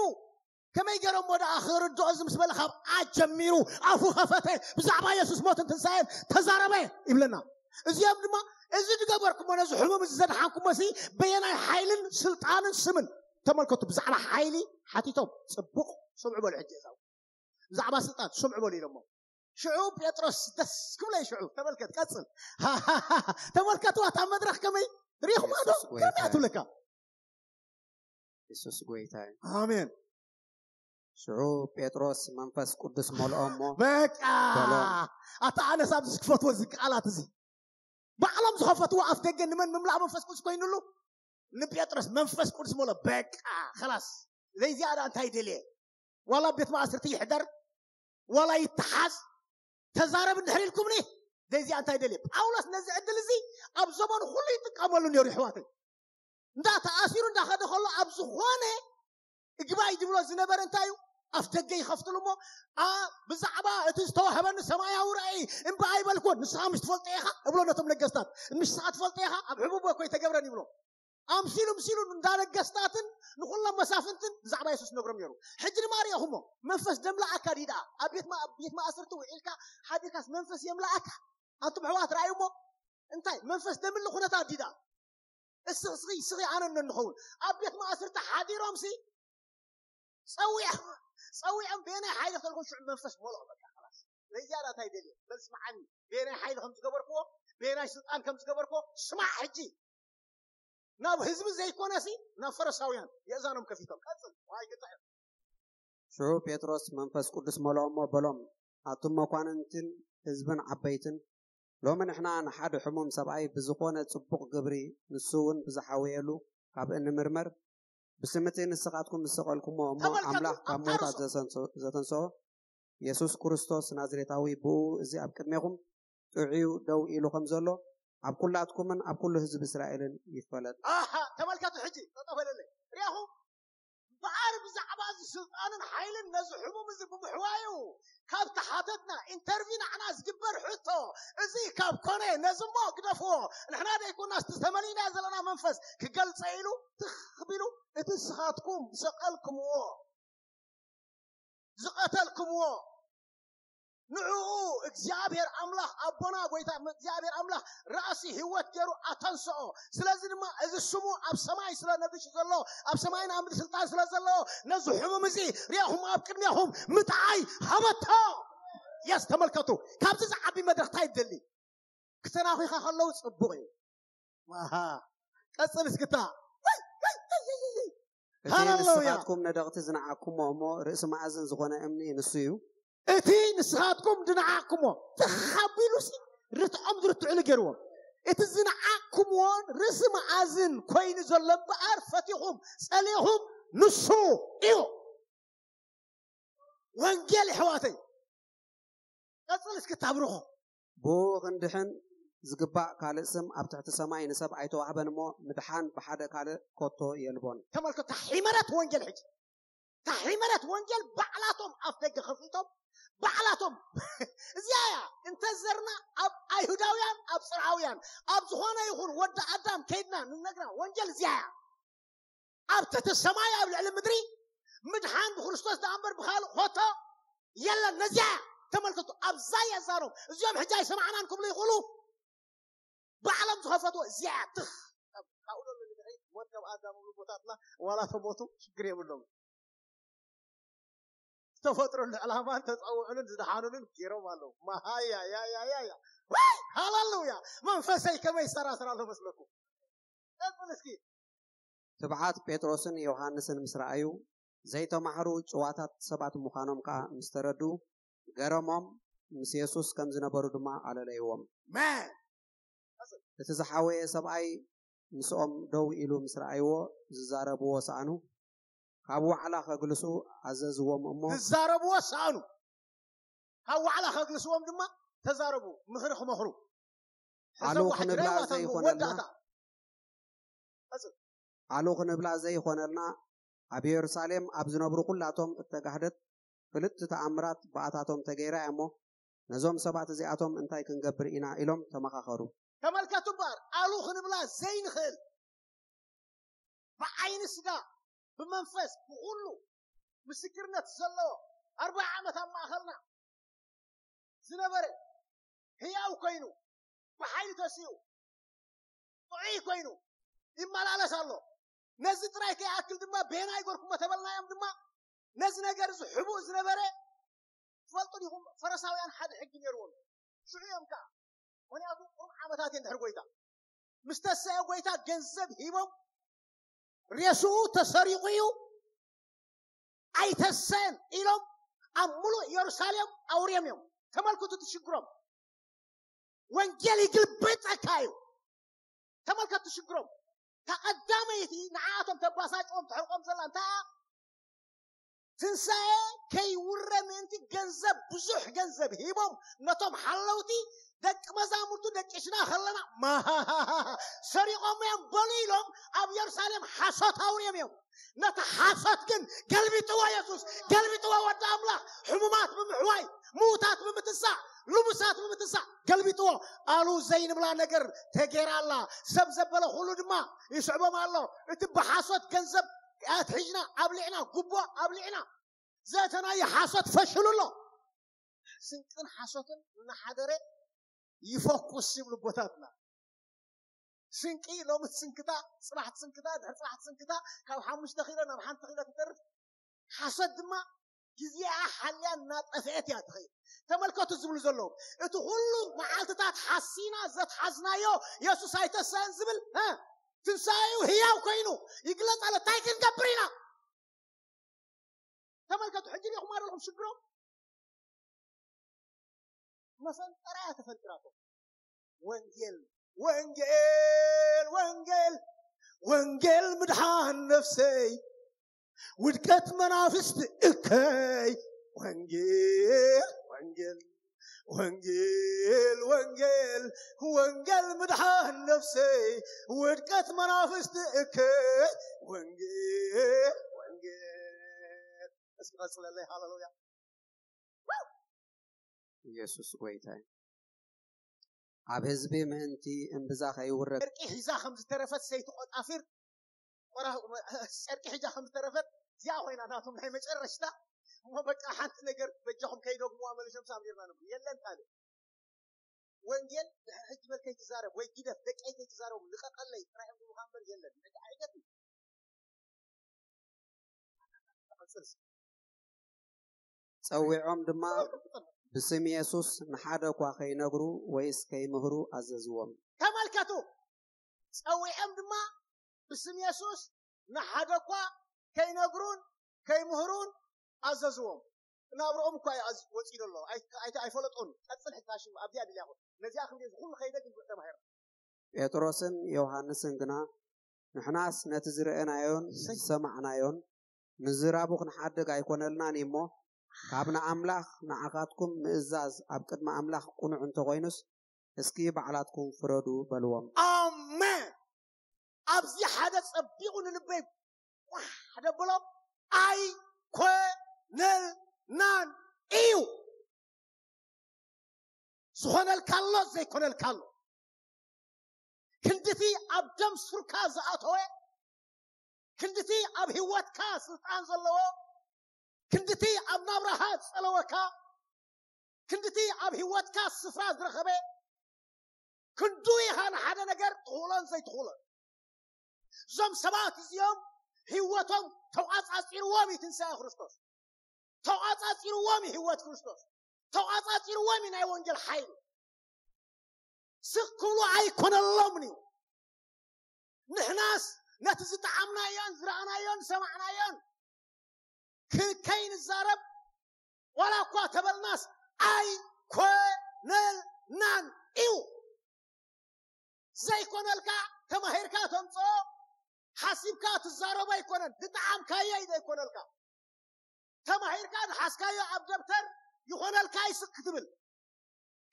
ከመይ ገይሮሞ ደኣ ክርድኦ እዚ ምስ በለ፣ ካብ ኣጀሚሩ ኣፉ ከፈተ፣ ብዛዕባ የሱስ ሞትን ትንሳኤን ተዛረበ ይብለና። እዚኦም ድማ፣ እዚ ዝገበርኩሞ፣ ነዚ ሕሙም እዚ ዘድሓንኩሞ ሲ በየናይ ሓይልን ስልጣንን ስምን? ተመልከቱ፣ ብዛዕባ ሓይሊ ሓቲቶም። ጽቡቕ፣ ስምዑ በሉ ሕጂ እዛው። ብዛዕባ ስልጣን ስምዑ በሉ ኢሎሞ። ሽዑ ጴጥሮስ ደስ ክብሎ እዩ። ሽዑ ተመልከት፣ ቀጽል። ተመልከትዋ፣ እታ መድረኽ ከመይ ሪኹማ ዶ? የሱስ ጎይታ ከመይ እዩ። ትብለካ? የሱስ ጎይታ እዩ። ኣሜን። ሽዑ ጴጥሮስ መንፈስ ቅዱስ መልኦ እሞ፣ በቃ በሎ። ኣታ ኣነስ ኣብዚ ዝክፈትዎ እዚ ቃላት እዚ፣ ባዕሎም ዝኸፈትዎ ኣፍ ደገ ንመን ምምላእ መንፈስ ቅዱስ ኮይኑሉ? ንጴጥሮስ መንፈስ ቅዱስ መሎ። በቃ ኸላስ፣ ዘይዚኣ ደኣ እንታይ ደልየ? ዋላ ቤት ማእስርቲ ይሕደር፣ ዋላ ይተሓዝ፣ ተዛረብ እንድሕር ኢልኩምኒ፣ ዘይዚኣ እንታይ ደልየ? ጳውሎስ ነዚ ዕድል እዚ ኣብ ዘመኑ ኩሉ ይጥቀመሉ ነይሩ። ይሕዋተይ፣ እንዳ ተኣሲሩ እንዳኸደ ከሎ ኣብ ዝኾነ እግባይ ዝብሎ ዝነበረ እንታይ እዩ? ኣፍ ደገ ይኸፍትሉ እሞ፣ ኣ፣ ብዛዕባ እቲ ዝተዋህበኒ ሰማያዊ ራእይ እምባ ኣይበልኩን፣ ንስኻ ምሽ ትፈልጦ ኢኻ እብሎ ነቶም ነገስታት። ምሽ ንስኻ ትፈልጦ ኢኻ፣ ኣብ ሕቡብ እኮ ይተገብረን ይብሎ። ኣምሲሉ ምሲሉ እንዳ ነገስታትን ንኹሎም መሳፍንትን ብዛዕባ የሱስ ነግሮም ነይሩ። ሕጂ ድማ ሪኢኹሞ፣ መንፈስ ደምልኣካ ድዩ ደኣ? ኣብ ቤት ማ-፣ ቤት ማእሰርቲ ውዒልካ ሓዲርካስ መንፈስ የምልኣካ? ኣንቱም ኣሕዋት ራእዩሞ፣ እንታይ መንፈስ ደምሊ ኩነታት ድዩ ደኣ? እስኺ፣ እስኺ፣ እስኺ ኣነ እንኸውን ኣብ ቤት ማእሰርቲ ሓዲሮምሲ ጸዊዖም፣ ጸዊዖም በየናይ ሓይሊ ክተልኮ ሽዑ መንፈስ ሞልኦ በቃ ኸላስ። ናይ ዝያዳ እንታይ ደልየ? በል ስምዓኒ። በየናይ ሓይሊ ከም ዝገበርክዎ፣ በየናይ ስልጣን ከም ዝገበርክዎ ስማዕ ሕጂ። ናብ ህዝቢ ዘይኮነሲ ናብ ፈሪሳውያን የእዛኖም ከፊቶም። ቀጽል። ዋይ ክጥዕም። ሽዑ ጴጥሮስ መንፈስ ቅዱስ መልኦ እሞ በሎም፣ ኣቱም መኳንንትን ህዝብን ዓበይትን፣ ሎሚ ንሕና ንሓደ ሕሙም ሰብኣይ ብዝኾነ ጽቡቕ ግብሪ ንሱ እውን ብዝሓወየሉ ካብ እንምርመር፣ ብስምቲ ንስኻትኩም ዝሰቐልኩሞ እሞ ተመልከቱ፣ ኣምላኽ ካብ ኣብ ምዉታት ታርሶ። ዘሰንሶ- ዘተንስኦ የሱስ ክርስቶስ ናዝሬታዊ ብኡ እዚ ኣብ ቅድሜኹም ጥዑዩ ደው ኢሉ ከም ዘሎ ኣብ ኩላትኩምን ኣብ ኩሉ ህዝቢ እስራኤልን ይፈለጥ። ኣሃ፣ ተመልከቱ ሕጂ ጠጠው በለለይ። ሪኣኹም እምበኣር ብዛዕባ እዚ ስልጣንን ሓይልን ነዚ ሕሙም እዚ ብምሕዋዩ ካብ ተሓተትና ኢንተርቪ ንዓና ዝግበር ሕቶ እዚ ካብ ኮነ ነዚ እሞ ግደፍዎ። ንሕና ደይኮናስ ተመሊና ዘለና መንፈስ ክገልጸ ኢሉ ትኽ ቢሉ እቲ ንስኻትኩም ዝሰቐልክምዎ ዝቐተልክምዎ ንዕኡ እግዚኣብሔር ኣምላኽ ኣቦና ጎይታ እግዚኣብሔር ኣምላኽ ራእሲ ህይወት ገይሩ ኣተንስኦ። ስለዚ ድማ እዚ ስሙ ኣብ ሰማይ ስለ ነግሹ ዘሎ ኣብ ሰማይን ኣብ ምድሪ ስልጣን ስለ ዘለዎ ነዚ ሕሙም እዚ ሪኣኹም ኣብ ቅድሚኹም ምጥዓይ ሃበቶ። የስ ተመልከቱ። ካብዚ ዝዓቢ መድረኽ እንታይ ይደሊ? ክተናኺኻ ከለዉ ጽቡቕ እዩ። ኣሃ። ቀጽል እስክታ። እቲ ሃሌሉያ። ንስኻትኩም ነደቕቲ ዝነዓኩሞ እሞ ርእሲ መኣዝን ዝኾነ እምኒ ንሱ እዩ። እቲ ንስኻትኩም ዝነዓኩሞ ተኻቢሉሲ ርትዖም ዝርትዑ ነገርዎም። እቲ ዝነዓኩምዎን ርእሲ መኣዝን ኮይኑ ዘሎ እምበኣር ፈቲኹም ጸሊኹም ንሱ እዩ። ወንጌል የሕዋተይ ቀጽል እስኪ ታብርኾ። ብኡ ክንድሕን ዝግባእ ካልእ ስም ኣብ ትሕቲ ሰማይ ንሰብ ኣይተዋህበን እሞ ምድሓን ብሓደ ካልእ ኮቶ የልቦን። ተመልከቱ። ታሒመረት ወንጌል ሕጂ ታሒመረት ወንጌል ባዕላቶም ኣፍ ደገ ከፊቶም ባዕላቶም እዚያ እያ። እንተዘርና ኣብ ኣይሁዳውያን ኣብ ጽርዓውያን ኣብ ዝኾነ ይኹን ወዲ ኣዳም ከይድና ንነግራ ወንጌል እዚያ እያ። ኣብ ትሕቲ ሰማይ ኣብ ልዕሊ ምድሪ ምድሓን ብክርስቶስ ደኣ እምበር ብኻልእ ኮቶ የለን። ነዚያ እያ። ተመልከቱ። ኣብዛ እያ ዛሮም እዚኦም ሕጂ ኣይሰማዕናን ክብሉ ይኽእሉ። ባዕሎም ዝኸፈትዎ እዚኣ ትኽ ካብኡ ዘሎ ንድሕሪት ሞት ካብ ኣዳም ዝብሉ ቦታትና ዋላ ተሞቱ ሽግር የብሎም። ዝተፈጥረሉ ዕላማን ተፀውዕሉን ዝደሓኑሉን ገይሮም ኣለዉ። መሃያ ያያያያ ወይ ሃሌሉያ። መንፈሰይ ከመይ ይሰራስር ኣሎ መስለኩም? ቀፅል እስኪ። ትብዓት ጴጥሮስን ዮሃንስን ምስ ረኣዩ ዘይተማህሩ ጭዋታት ሰባት ምዃኖም ከኣ ምስ ተረድኡ ገረሞም፣ ምስ የሱስ ከም ዝነበሩ ድማ ኣለለይዎም። መን እቲ ዝሓወየ ሰብኣይ ምስኦም ደው ኢሉ ምስ ረኣይዎ ዝዛረብዎ ሰኣኑ፣ ካብ ዋዕላ ከግልሱ ኣዘዝዎም እሞ ዝዛረብዎ ሰኣኑ ካብ ዋዕላ ከግልስዎም ድማ ተዛረቡ። ምኽሪ ክመኽሩ ኣሉ ሕሰቡ። ክንብላ ሕድረይዋ ታንጉ ዘይኾነልና ወዳእታ ኣሉ ክንብላ ዘይኾነልና ኣብ የሩሳሌም ኣብ ዝነብሩ ኩላቶም እተጋህደት ፍልጥቲ ተኣምራት ብኣታቶም ተገይራ እያ እሞ ነዞም ሰባት እዚኣቶም እንታይ ክንገብር ኢና ኢሎም ተመኻኸሩ። ተመልከቱ እምበኣር ኣሉ ክንብላ ዘይንኽእል ብዓይኒ ስጋ ብመንፈስ ብኩሉ ምስክርነት ዘለዎ ኣርባዓ ዓመት ኣብ ማእኸልና ዝነበረ ህያው ኮይኑ ብሓይሊ ተሲኡ ጥዑይ ኮይኑ ይመላለስ ኣሎ። ነዚ ጥራይ ከይኣክል ድማ ቤና ይገርኩሞ ተበልናዮም ድማ ነዚ ነገር እዚ ሕቡእ ዝነበረ ትፈልጡ ዲኹም? ፈረሳውያን ሓደ ሕጊ ነይርዎም። ሽዑ እዮም ከዓ ምክንያቱ ቁሩብ ዓመታት እየ እንድሕር ጎይታ ምስ ተሰአ ጎይታ ገንዘብ ሂቦም ሬስኡ ተሰሪቑ እዩ ኣይተሰን ኢሎም ኣብ ሙሉእ ኢየሩሳሌም ኣውርዮም እዮም። ተመልክቱ ትሽግሮም። ወንጌል ይግልበጠካ እዩ። ተመልከቱ ትሽግሮም። ተቐዳመይቲ ንዓኣቶም ተባሳጭዎም ተሕርቆም ዘላ እንታይ እያ? ትንሳኤ ከይውረ ምእንቲ ገንዘብ ብዙሕ ገንዘብ ሂቦም ነቶም ሓለውቲ ደቂ መዛሙርቱ ደቂስና ከለና ማሃሃሃ ሰሪቆም እዮም በሉ ኢሎም ኣብ ኢየሩሳሌም ሓሶት ኣውርዮም እዮም። ነቲ ሓሶት ግን ገልቢጥዎ የሱስ ገልቢጥዎ ወዲ ኣምላኽ ሕሙማት ብምሕዋይ ምዉታት ብምትንሳእ ልሙሳት ብምትንሳእ ገልቢጥዎ። ኣሉ ዘይንብላ ነገር ተጌራ ኣላ። ሰብ ዘበለ ኩሉ ድማ ይስዕቦም ኣሎ። እቲ ብሓሶት ገንዘብ ኣትሒዝና ኣብሊዕና ጉቦ ኣብሊዕና ዘእተናዮ ሓሶት ፈሽሉ ኣሎ። ስንቅን ሓሶትን እናሓደረ ይፈኩስ ይብሉ ኣቦታትና። ስንቂ ሎሚ ትስንክታ፣ ፅባሕ ትስንክታ፣ ድሕሪ ፅባሕ ትስንክታ፣ ካብ ሓሙሽተ ኪሎ ናብ ሓንቲ ኪሎ ትተርፍ። ሓሶት ድማ ግዜኣ ሓልያ እናጠፍአት እያ ትኸይድ። ተመልከቱ ዝብሉ ዘለዉ፣ እቲ ኩሉ መዓልትታት ሓሲና ዘትሓዝናዮ የሱስ ኣይተሳን ዝብል፣ እ፣ ትንሳኤኡ ህያው ኮይኑ ይግለጽ ኣሎ። እንታይ ክንገብር ኢና? ተመልከቱ፣ ሕጂ ዲኹም ኣለኹም ሽግሮም? መፈንጠራ እያ ተፈንጢራቶ። ወንጌል፣ ወንጌል፣ ወንጌል፣ ወንጌል ምድሓን ነፍሰይ፣ ውድቀት መናፍስት እከይ። ወንጌል፣ ወንጌል፣ ወንጌል፣ ወንጌል፣ ወንጌል ምድሓን ነፍሰይ፣ ውድቀት መናፍስት እከይ። ወንጌል፣ ወንጌል። እስኪ ቀጽለለይ። ሃሌሉያ። ኢየሱስ ጎይታ እዩ። ኣብ ህዝቢ ምእንቲ እምብዛ ከይውረድ። ጨርቂ ሒዛ ከም ዝተረፈት ሰይቲ ቆጣፊር፣ ቆራ-፣ ጨርቂ ሒዛ ከም ዝተረፈት እዚኣ ኮይና ናቶም ናይ መጨረሽታ። እሞ በቃ ሓንቲ ነገር በጃኹም ከይደግሙዋ መሊሶም ሳብ ኔርና ንብሉ። የለን ካልእ። ወንጌል ድሕሪ ሕጂ በል ከይትዛረብ ወይ ግደፍ፣ ደቀይ ከይትዛረቡ፣ ልቀቀለይ ጥራይ እዮም ዝብሉኻ እምበር የለን። ሕጂ ዓይነት እዩ። ጸዊዖም ድማ ብስም የሱስ ንሓደ እኳ ከይነግሩ ወይስ ከይምህሩ ኣዘዝዎም። ተመልከቱ፣ ጸዊዖም ድማ ብስም የሱስ ንሓደ እኳ ከይነግሩን ከይምህሩን ኣዘዝዎም። ናብርኦም እኳ እዩ ኣዝ-፣ ወጺኡ ዘሎ። ኣይ-፣ ኣይ-፣ ኣይፈለጦን። ቀጽል ሕታሽም ኣብዚኣ ድልያኹ። ነዚኣ ክንዲ እዚ ኩሉ ከይደ ግን ተማሂር። ጴጥሮስን ዮሃንስን ግና፣ ንሕናስ ነቲ ዝረኣናዮን ዝሰማዕናዮን ምዝራቡ ክንሓድግ ኣይኮነልናን እዩ እሞ፣ ካብ ንኣምላኽ ንዓኻትኩም ምእዛዝ ኣብ ቅድሚ ኣምላኽ ቅኑዕ እንተኾይኑስ፣ እስኪ ባዕላትኩም ፍረዱ በልዎም። ኣሜን። ኣብዚ ሓደ ጸቢቑ ንልበይ ቋሕ ደብሎ፣ ኣይኮነልናን እዩ። ዝኾነልካ ኣሎ፣ ዘይኮነልካ ኣሎ። ክንድቲ ኣብ ደም ሱርካ ዝኣተወ፣ ክንድቲ ኣብ ህይወትካ ስልጣን ዘለዎ፣ ክንድቲ ኣብ ናብራኻ ዝጸለወካ፣ ክንድቲ ኣብ ህይወትካ ስፍራ ዝረኸበ፣ ክንዱ ኢኻ ንሓደ ነገር ትኽእሎን ዘይትኽእሎን። እዞም ሰባት እዚኦም ህይወቶም ተቋጻጺርዎም እዩ ትንሳኤ ክርስቶስ። ተቋጻጺርዎም እዩ ህይወት ክርስቶስ። ተቋጻጺርዎም እዩ ናይ ወንጌል ሓይሊ። ስቕ ክብሉ ኣይኮነሎምን እዩ። ንሕናስ ነቲ ዝጠዓምናዮን ዝረኣናዮን ዝሰማዕናዮን ክ-፣ ከይንዛረብ ዋላ እኳ ተበልናስ ኣይኮነልናን እዩ። ዘይኮነልካ ተማሂርካ ተምጽኦ፣ ሓሲብካ ትዛረቦ ኣይኮነን፣ ዝጠዓምካዮ እዩ ዘይኮነልካ። ተማሂርካ ዝሓዝካዮ ኣብ ደብተር ይኾነልካ እዩ ስክ ክትብል።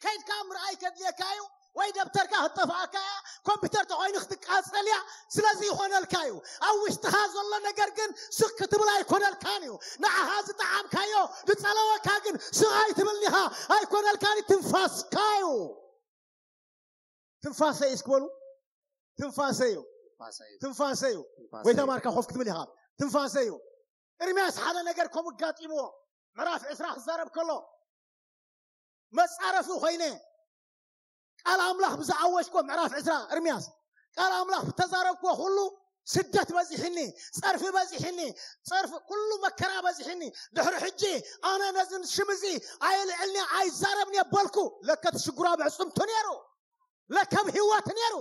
ከይድካ ምርኣይ ከድልየካ እዩ፣ ወይ ደብተርካ ክትጠፍኣካ እያ፣ ኮምፒውተር ተኾይኑ ክትቃጸል እያ። ስለዚ ይኾነልካ እዩ። ኣብ ውሽጥኻ ዘሎ ነገር ግን ስክ ክትብል ኣይኮነልካን እዩ። ንዓኻ ዝጠዓምካዮ ዝጸለወካ ግን ስቕ ኣይትብልን ኢኻ፣ ኣይኮነልካን እዩ፣ ትንፋስካ እዩ። ትንፋሰ እዩ እስኪ በሉ። ትንፋሰ እዩ። ትንፋሰ እዩ። ትንፋሰ እዩ። ትንፋሰ ጎይታ እዩ። ማርካ ኮፍ ክትብል ኢኻ። ትንፋሰ እዩ። ኤርምያስ ሓደ ነገር ከምኡ ኣጋጢምዎ። ምዕራፍ ዕስራ ክዛረብ ከሎ፣ መጻረፊ ኮይነ ቃል ኣምላኽ ብዝኣወጅኮ፣ ምዕራፍ ዕስራ ኤርምያስ፣ ቃል ኣምላኽ ብተዛረብኮ ኩሉ ስደት በዚሕኒ፣ ጸርፊ በዚሕኒ፣ ጸርፊ ኩሉ መከራ በዚሕኒ። ድሕሪ ሕጂ ኣነ ነዚ ሽም እዚ ኣየልዕልኒ ኣይዛረብን እየ በልኩ። ለከ እቲ ሽጉራ ብዕጽምቱ ነይሩ። ለከ ኣብ ህይወት ነይሩ።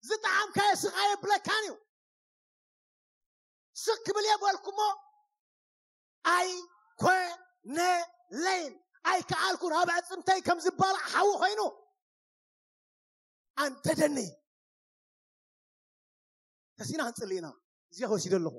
ዝጠዓምካዮ ስቕ ኣየብለካን እዩ። ስቕ ክብል እየ በልኩሞ፣ ኣይኮነለይን። ኣይከኣልኩን። ኣብ ኣዕጽምተይ ከም ዝባላዕ ሓዊ ኮይኑ ኣንደደኒ። ተሲና ክንጽሊ ኢና። እዚኣ ወሲደ ኣለኹ።